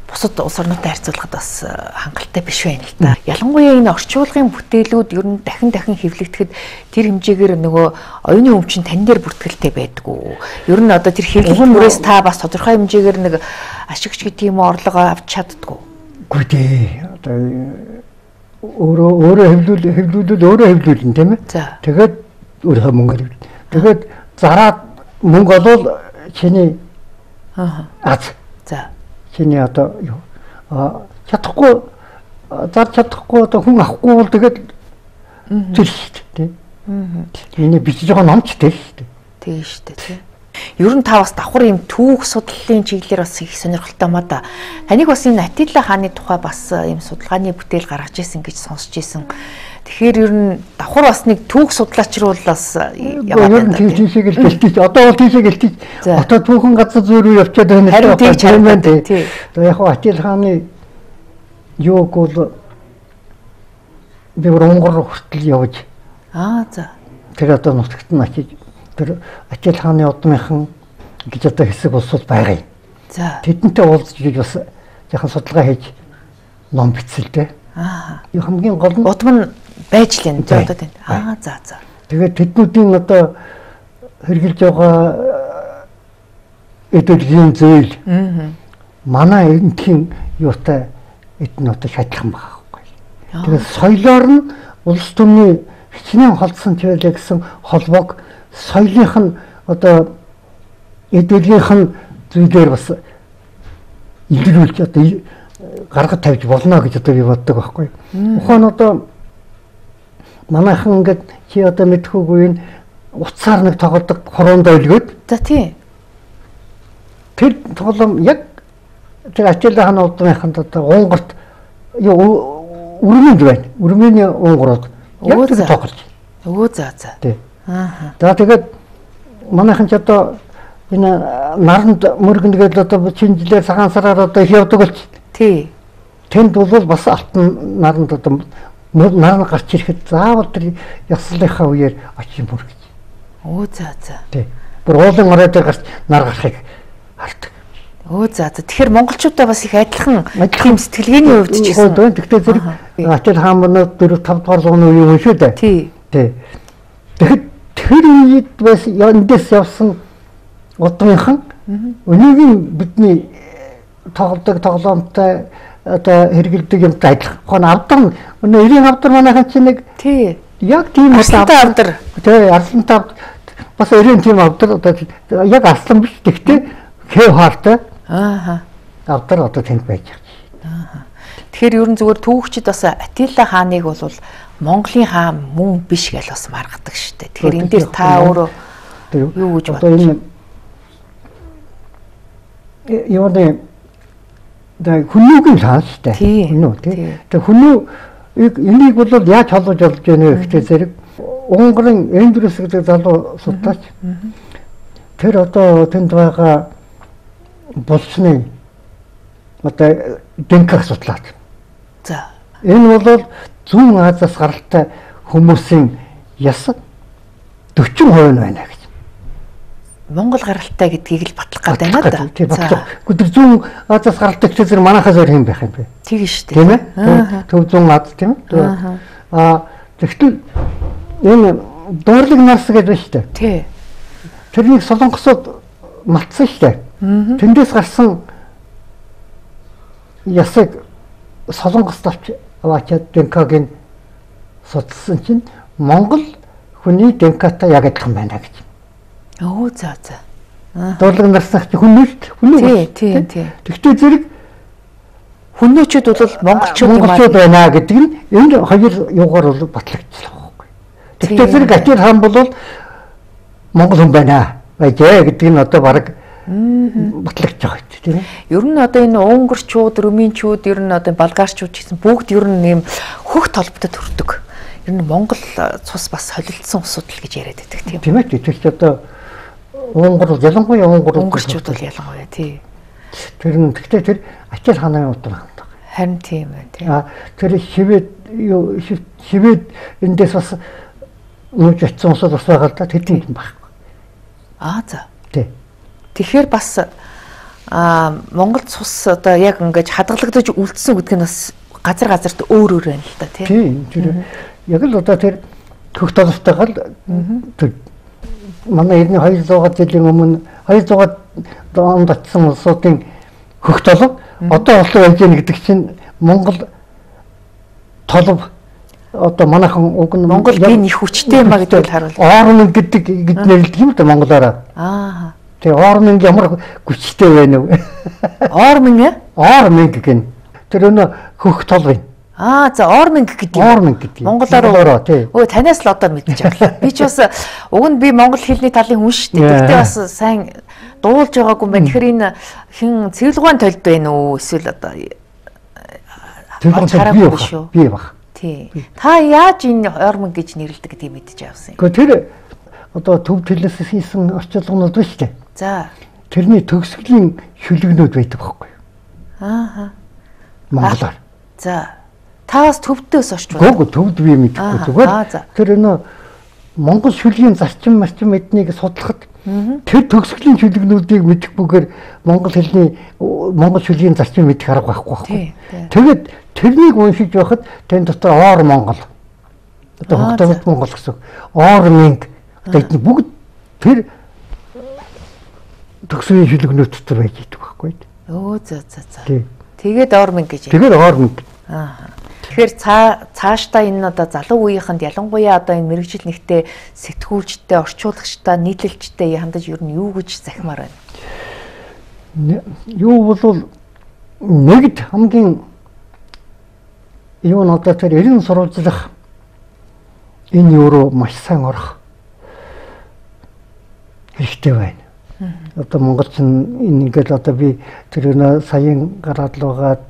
бусад улс орнуудтай харьцуулахад бас хангалттай биш байна л да. Ялангуяа энэ орчуулгын бүтээлүүд ер нь дахин дахин хэвлэгдэхэд тэр хэмжээгээр нөгөө оюуны өмчин тань дээр бүртгэлтэй байдгүй. Ер нь одоо тэр хэвлэгдэх бүрээс та бас тодорхой хэмжээгээр нэг ашигч гэдэг юм орлого авч чаддгүй. Үгүй дээ. Одоо өөрөө өөрөө хэвлүүл хэвлүүлэл өөрөө хэвлүүлнэ тийм ээ. Тэгээд өөрөө мөнгө. Тэгээд зараад мөнгө олвол чиний аа аз. За. Чиний одоо юу а чадахгүй зар чадахгүй одоо хүн авахгүй бол тэгээд тэр шүү дээ тийм. Миний бичиж байгаа номч тэр шүү дээ. Тийм шүү дээ тийм. Ер нь та бас давхар юм түүх судлалын чиглэлээр бас их сонирхолтой маа да. Таныг бас энэ Атилла хааны тухай бас юм судалгааны бүтээл гаргаж ирсэн гэж сонсч ирсэн. Тэгэхээр ер нь давхар бас нэг түүх судлаач руу бас яваад байна. Тийм шиг л гэлтиж одоо бол тийм шиг гэлтиж одоо түүхэн газар зүй рүү явчаад байна. Харин тийм ч байна тий. Одоо яг Атилла хааны юуг бол би Монгол хүртэл явж. Аа за. Тэр одоо нутагт нь очиж тэр Атилла хааны удмынхан гэж одоо хэсэг улсууд байгаа юм. За. Тэдэнтэй уулзж гэж бас яхан судалгаа хийж ном бичсэлтэй. Аа. Юу хамгийн гол нь удам нь байж л энэ одоо тийм. Аа за за. Тэгээд тэднүүдийн одоо хэрэгжилж байгаа эдгээр зөөл. Аа. Манай энтхийн юутай эднүүтэй шатлах байгаа байхгүй. Тэгээд соёлоор нь улс төрний хичнээн холдсон ч байлаа гэсэн холбоог соёлынх нь одоо эдгээрийнх нь зүйлээр бас илрүүлж одоо гаргаж тавьж болно гэж одоо би боддог байхгүй. Ухаан одоо манайхан ингээд чи одоо мэдхүүгүй нь уцаар нэг тоглодог хороондоо илгээд. За тий. Тэр тоглоом яг тэр Атилла хааны удмынханд одоо Унгарт юу үрмэнд байна. Үрмэний Унгарууд яг тэр тоглож. Өө за за. Тий. Аа. За тэгээд манайхан ч одоо энэ наранд мөргөнгээд одоо чинжилээр цагаан сараар одоо их явдаг болч. Тий. Тэнд бол бас алтан наранд одоо наран гарч ирэхэд заавал тэр яслынхаа үеэр очиж мөргөж. Өө за за. Тий. Бүр уулын орой дээр гарч нар гарахыг хардаг. Өө за за. Тэгэхээр монголчуудаа бас их адилхан тийм сэтгэлгээний хувьд ч гэсэн. Тэгтээ зэрэг Атилла хаан манай дөрөв тав дугаар зууны үеийн хүн шүү дээ. Тий. Тий. Тэгэхэд тэр үед бас эндээс явсан удмынхан өнөөгийн бидний тоглодог тоглоомтой одоо хэрэгэлдэг юмтай адилхан авдар өнөө эрийн авдар манайхан чинь нэг тий яг тийм авдар авдар тий арслантай бас эрийн тийм авдар одоо яг арслан биш гэхдээ Х хартай. Аа. Авдар одоо тэнд байж байгаа. Тэгэхээр ер нь зүгээр түүхчид бас Атилла хааныг бол Монголын хаан мөн биш гэж бас маргадаг шүү дээ. Тэгэхээр энэ дээр та өөрөө юу гэж бодож юу нэ дэ хүнүүгийн хаан шүү дээ. Хүнүү тий. Тэгээ хүнүү энийг бол яаж холбож болж байна вэ гэхдээ зэрэг Унгарн Эндрюс гэдэг залуу судлаач. Тэр одоо тэнд байгаа болсны одоо Денкаг судлаад. За. Энэ бол зүүн Азиас гаралтай хүмүүсийн яс forty percent байна гэж. Монгол гаралтай гэдгийг л батлах гэдэг байна да. За. Гэхдээ зүүн Азиас гаралтай гэж зэрэг манайхаас өөр юм байх юм бэ? Тийм шүү дээ. Тийм ээ. Төв зүүн Аз тийм ээ. Аа тэгвэл энэ дуурлаг нарс гэдэг байна шүү дээ. Тий. Тэрнийг солонгосууд матсан шүү дээ. Тэндээс гарсан ясыг солонгост авч аваачаад Денкагийн судалсан чинь Монгол хүний Денкатай яг адилхан байна гэж. Оо за за. Дуурлаг нарсах хүн нь хүн нь. Тий, тий. Тэгтээ зэрэг хүнөөчүүд бол монголчууд юм аа байна гэдэг нь энэ хоёр юугаар бол батлагдчихлаа байхгүй. Тэгтээ зэрэг Атил хаан бол монгол хүн байна байжээ гэдэг нь одоо баг батлагдж байгаа тийм ээ. Ер нь одоо энэ унгарчууд, румынчууд, ер нь одоо болгарчууд гэсэн бүгд ер нь нэм хөх толботод төрдөг. Ер нь Монгол цус бас солилцсон асуудал гэж яриад байдаг тийм. Тийм ээ. Тэр чинь одоо унгар ялангуяа унгар унгарчууд бол ялангуяа тий. Тэр нь гэхдээ тэр Атил хааны утга хандаг. Харин тийм ээ тий. А тэр Швед юу Швед эндээс бас нууж очсон усуд бас байгаа л да тэдэнд байхгүй. Аа за. Тий. Тэгэхээр бас а Монгол цус одоо яг ингэж хадгалагдаж үлдсэн гэдэг нь бас газар газарт өөр өөр байна л да тий. Тийм тэр яг л одоо тэр хөх толготойгоо тэр манай эртний two hundred жилийн өмнө two hundred онд очсон улсуудын хөх толго одоо олон байж гэнэ гэдэг чинь Монгол толго одоо манайхан уг нь Монгол гин их хүчтэй юм а гэдгийг харуулж. Ормын гэдэг гэж нэрлэдэг юм да монголоор. Аа. Тэгээ ормын ямар хүчтэй байна вэ? Ормын ээ? Ормын гэх нь. Тэр өнө хөх толгой. Аа за ормын гэдэг юм. Ормын гэдэг. Монголоор тий. Өө танаас л одоо мэдчих авлаа. Би ч бас уг нь би монгол хэлний талын хүн шүү дээ. Гэхдээ бас сайн дуулж байгаагүй юм байна. Тэгэхээр энэ хин цэвэрлэгэн толд байна уу? Эсвэл одоо цэвэрлэгэн толд шүү. Би баг. Тий. Та яаж энэ ормын гэж нэрлэдэг гэдгийг мэдчих авсан юм. Гэхдээ тэр одоо төв төлөөс хийсэн орчуулгууд байна шүү дээ. За. Тэрний төгсгөлийн шүлэгнүүд байдаг байхгүй юу? Аа. Монголоор. За. Та бас төвдөөс орч байна. Гүг төвд би мэдэхгүй зүгээр. Тэр нөө Монгол шүлгийн зарчим марчим эднийг судлахад тэр төгсгөлийн шүлэгнүүдийг мэдэхгүйгээр монгол хэлний монгол шүлгийн зарчим мэдэх арга байхгүй байхгүй. Тэгээд тэрнийг уншиж байхад тэн дотор оор монгол. Одоо хөгтөд монгол гэсэн. Орминг одоо эдний бүгд тэр төгсгөлийн шүлэгнүүд дотор байж идэг байхгүй. Өө за за за. Тэгээд орминг гэж. Тэгээд орминг. Аа. Тэгэхээр цаа цаашдаа энэ одоо залуу үеийнхэнд ялангуяа одоо энэ мэрэгжил нэгтээ сэтгүүлчтэй, орчуулагчтай, нийтлэлчтэй хандаж ер нь юу гэж захимаар байна? Юу бол нэгд хамгийн юу нь одоо тэр эрен сурвалжлах энэ юу руу маш сайн орох хэрэгтэй байна. Одоо монголч энэ ингээд одоо би тэр нэ саяын гараад л байгаа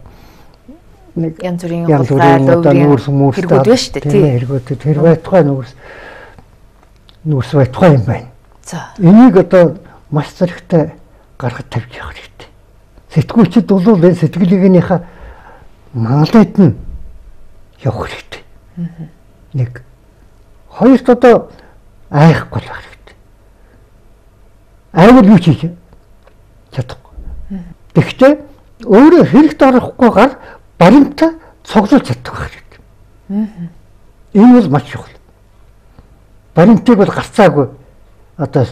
янз бүрийн хулгай нүүрс мөрстэй хэрэгүүд байна шүү дээ тийм хэрэгүүд тэр байтугай нүүрс нүүрс байтугай юм байна. За энийг одоо маш зэрэгтэй гаргаж тавьж явах хэрэгтэй. Сэтгүүлчид бол энэ сэтгэлгээнийхээ мангалайд нь явах хэрэгтэй. Нэг хоёрт одоо айхгүй байх хэрэгтэй. Айвал юу хийж чадахгүй. Тэгэхдээ өөрөө хэрэгт орохгүйгээр баримтаа цуглуулж чаддаг байх хэрэгтэй. Энэ бол маш чухал. Баримтыг бол гарцаагүй одоо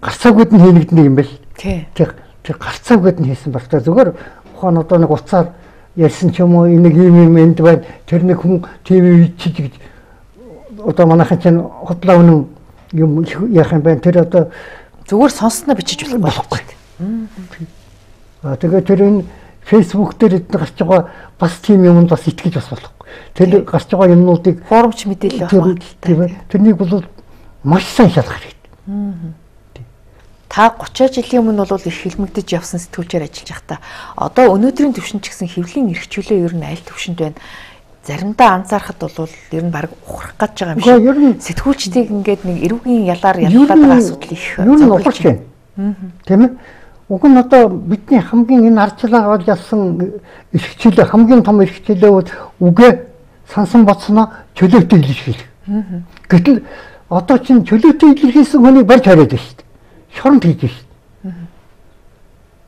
гарцаагүйд нь хийгдэх юм байл. Тий. Тэр гарцаагүйд нь хийсэн багтаа зүгээр ухаан одоо нэг уцаар ярьсан ч юм уу нэг юм юм энд байна. Тэр нэг хүн ТV чиж гэж одоо манайхан чинь хотлоо үнэн юм яах юм бэ? Тэр одоо зүгээр сонссноо бичиж болохгүй. Аа тэгээд тэр энэ Facebook дээр эдгээр гарч байгаа бас тийм юмд бас итгэж бас болохгүй. Тэр гарч байгаа юмнуудыг форумч мэдээлэл авах хэрэгтэй. Тэрнийг бол маш сайн шалгах хэрэгтэй. Та гучаа жилийн өмнө бол их хилмигдэж явсан сэтгүүлчээр ажиллаж байхдаа одоо өнөөдрийн түвшинд ч гэсэн хэвлийн эрхчлөө ер нь аль түвшинд байна? Заримдаа анзаарахад бол ер нь баг ухрах гэж байгаа юм шиг. Сэтгүүлчдийг ингээд нэг эрүүгийн ялаар яллаад байгаа асуудал их ер нь ухарч байна. Тийм ээ. Уг нь одоо бидний хамгийн энэ арчлаагаар ялсан эрхчлөө хамгийн том эрхчлөө бол үгээ сансан боцноо чөлөөтэй илэрхийлэх. Гэтэл одоо чинь чөлөөтэй илэрхийлсэн хүнийг барьж хариад байна шүү дээ. Шоронд хийж шүү.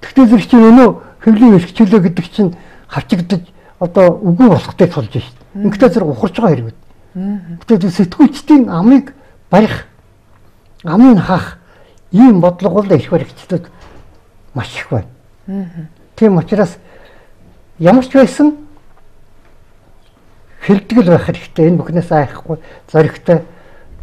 Тэгтээ зэрэг чинь өнөө хэвлийн эрхчлөө гэдэг чинь хавчигдаж одоо үгүй болохтой тулж шүү. Ингээд зэрэг ухарч байгаа хэрэг. Тэгтээ сэтгүүлчдийн амыг барих, амыг хаах ийм бодлого бол их баригчдад маш их байна. Тийм учраас ямар ч байсан хэлтгэл байх хэрэгтэй. Энэ бүхнээс айхгүй зоригтой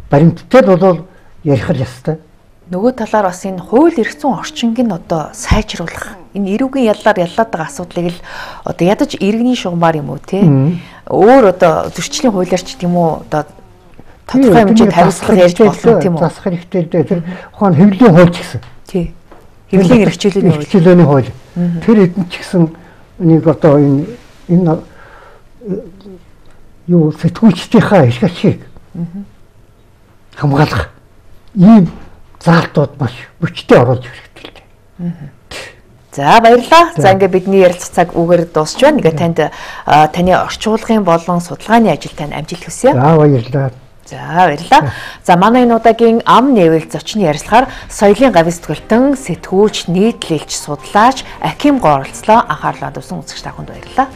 баримттай бол ярих ёстой. Нөгөө талаар бас энэ хууль эрх зүйн орчинг нь одоо сайжруулах. Энэ эрүүгийн яллаар яллаад байгаа асуудлыг л одоо ядаж иргэний шугамар юм уу те? Өөр одоо зөрчлийн хуулиар ч тийм үү одоо тодорхой хэмжээнд хариуцлага ярьж болно тийм үү? Засах хэрэгтэй дээ. Тэр ухаан хэвлийн хууль ч гэсэн. Тий. Хэвлийн эрхчлөөний хууль. Эрхчлөөний хууль. Тэр эдэн ч гэсэн нэг одоо энэ энэ юу сэтгүүлчдийнхаа эрх ашиг хамгаалах ийм заалтууд маш хүчтэй оруулж хэрэгтэй. За баярлалаа. За ингээд бидний ярилцах цаг үгээр дуусч байна. Ингээд танд таны орчуулгын болон судалгааны ажил тань амжилт хүсье. За баярлалаа. За баярлалаа. За манай энэ удаагийн ам нээвэл зочны ярилцлагаар соёлын гавьяа сэтгүүлтэн, сэтгүүлч, нийтлэлч, судлаач Аким оролцлоо. Анхаарлаа тавьсан үзэгч та бүхэнд баярлалаа.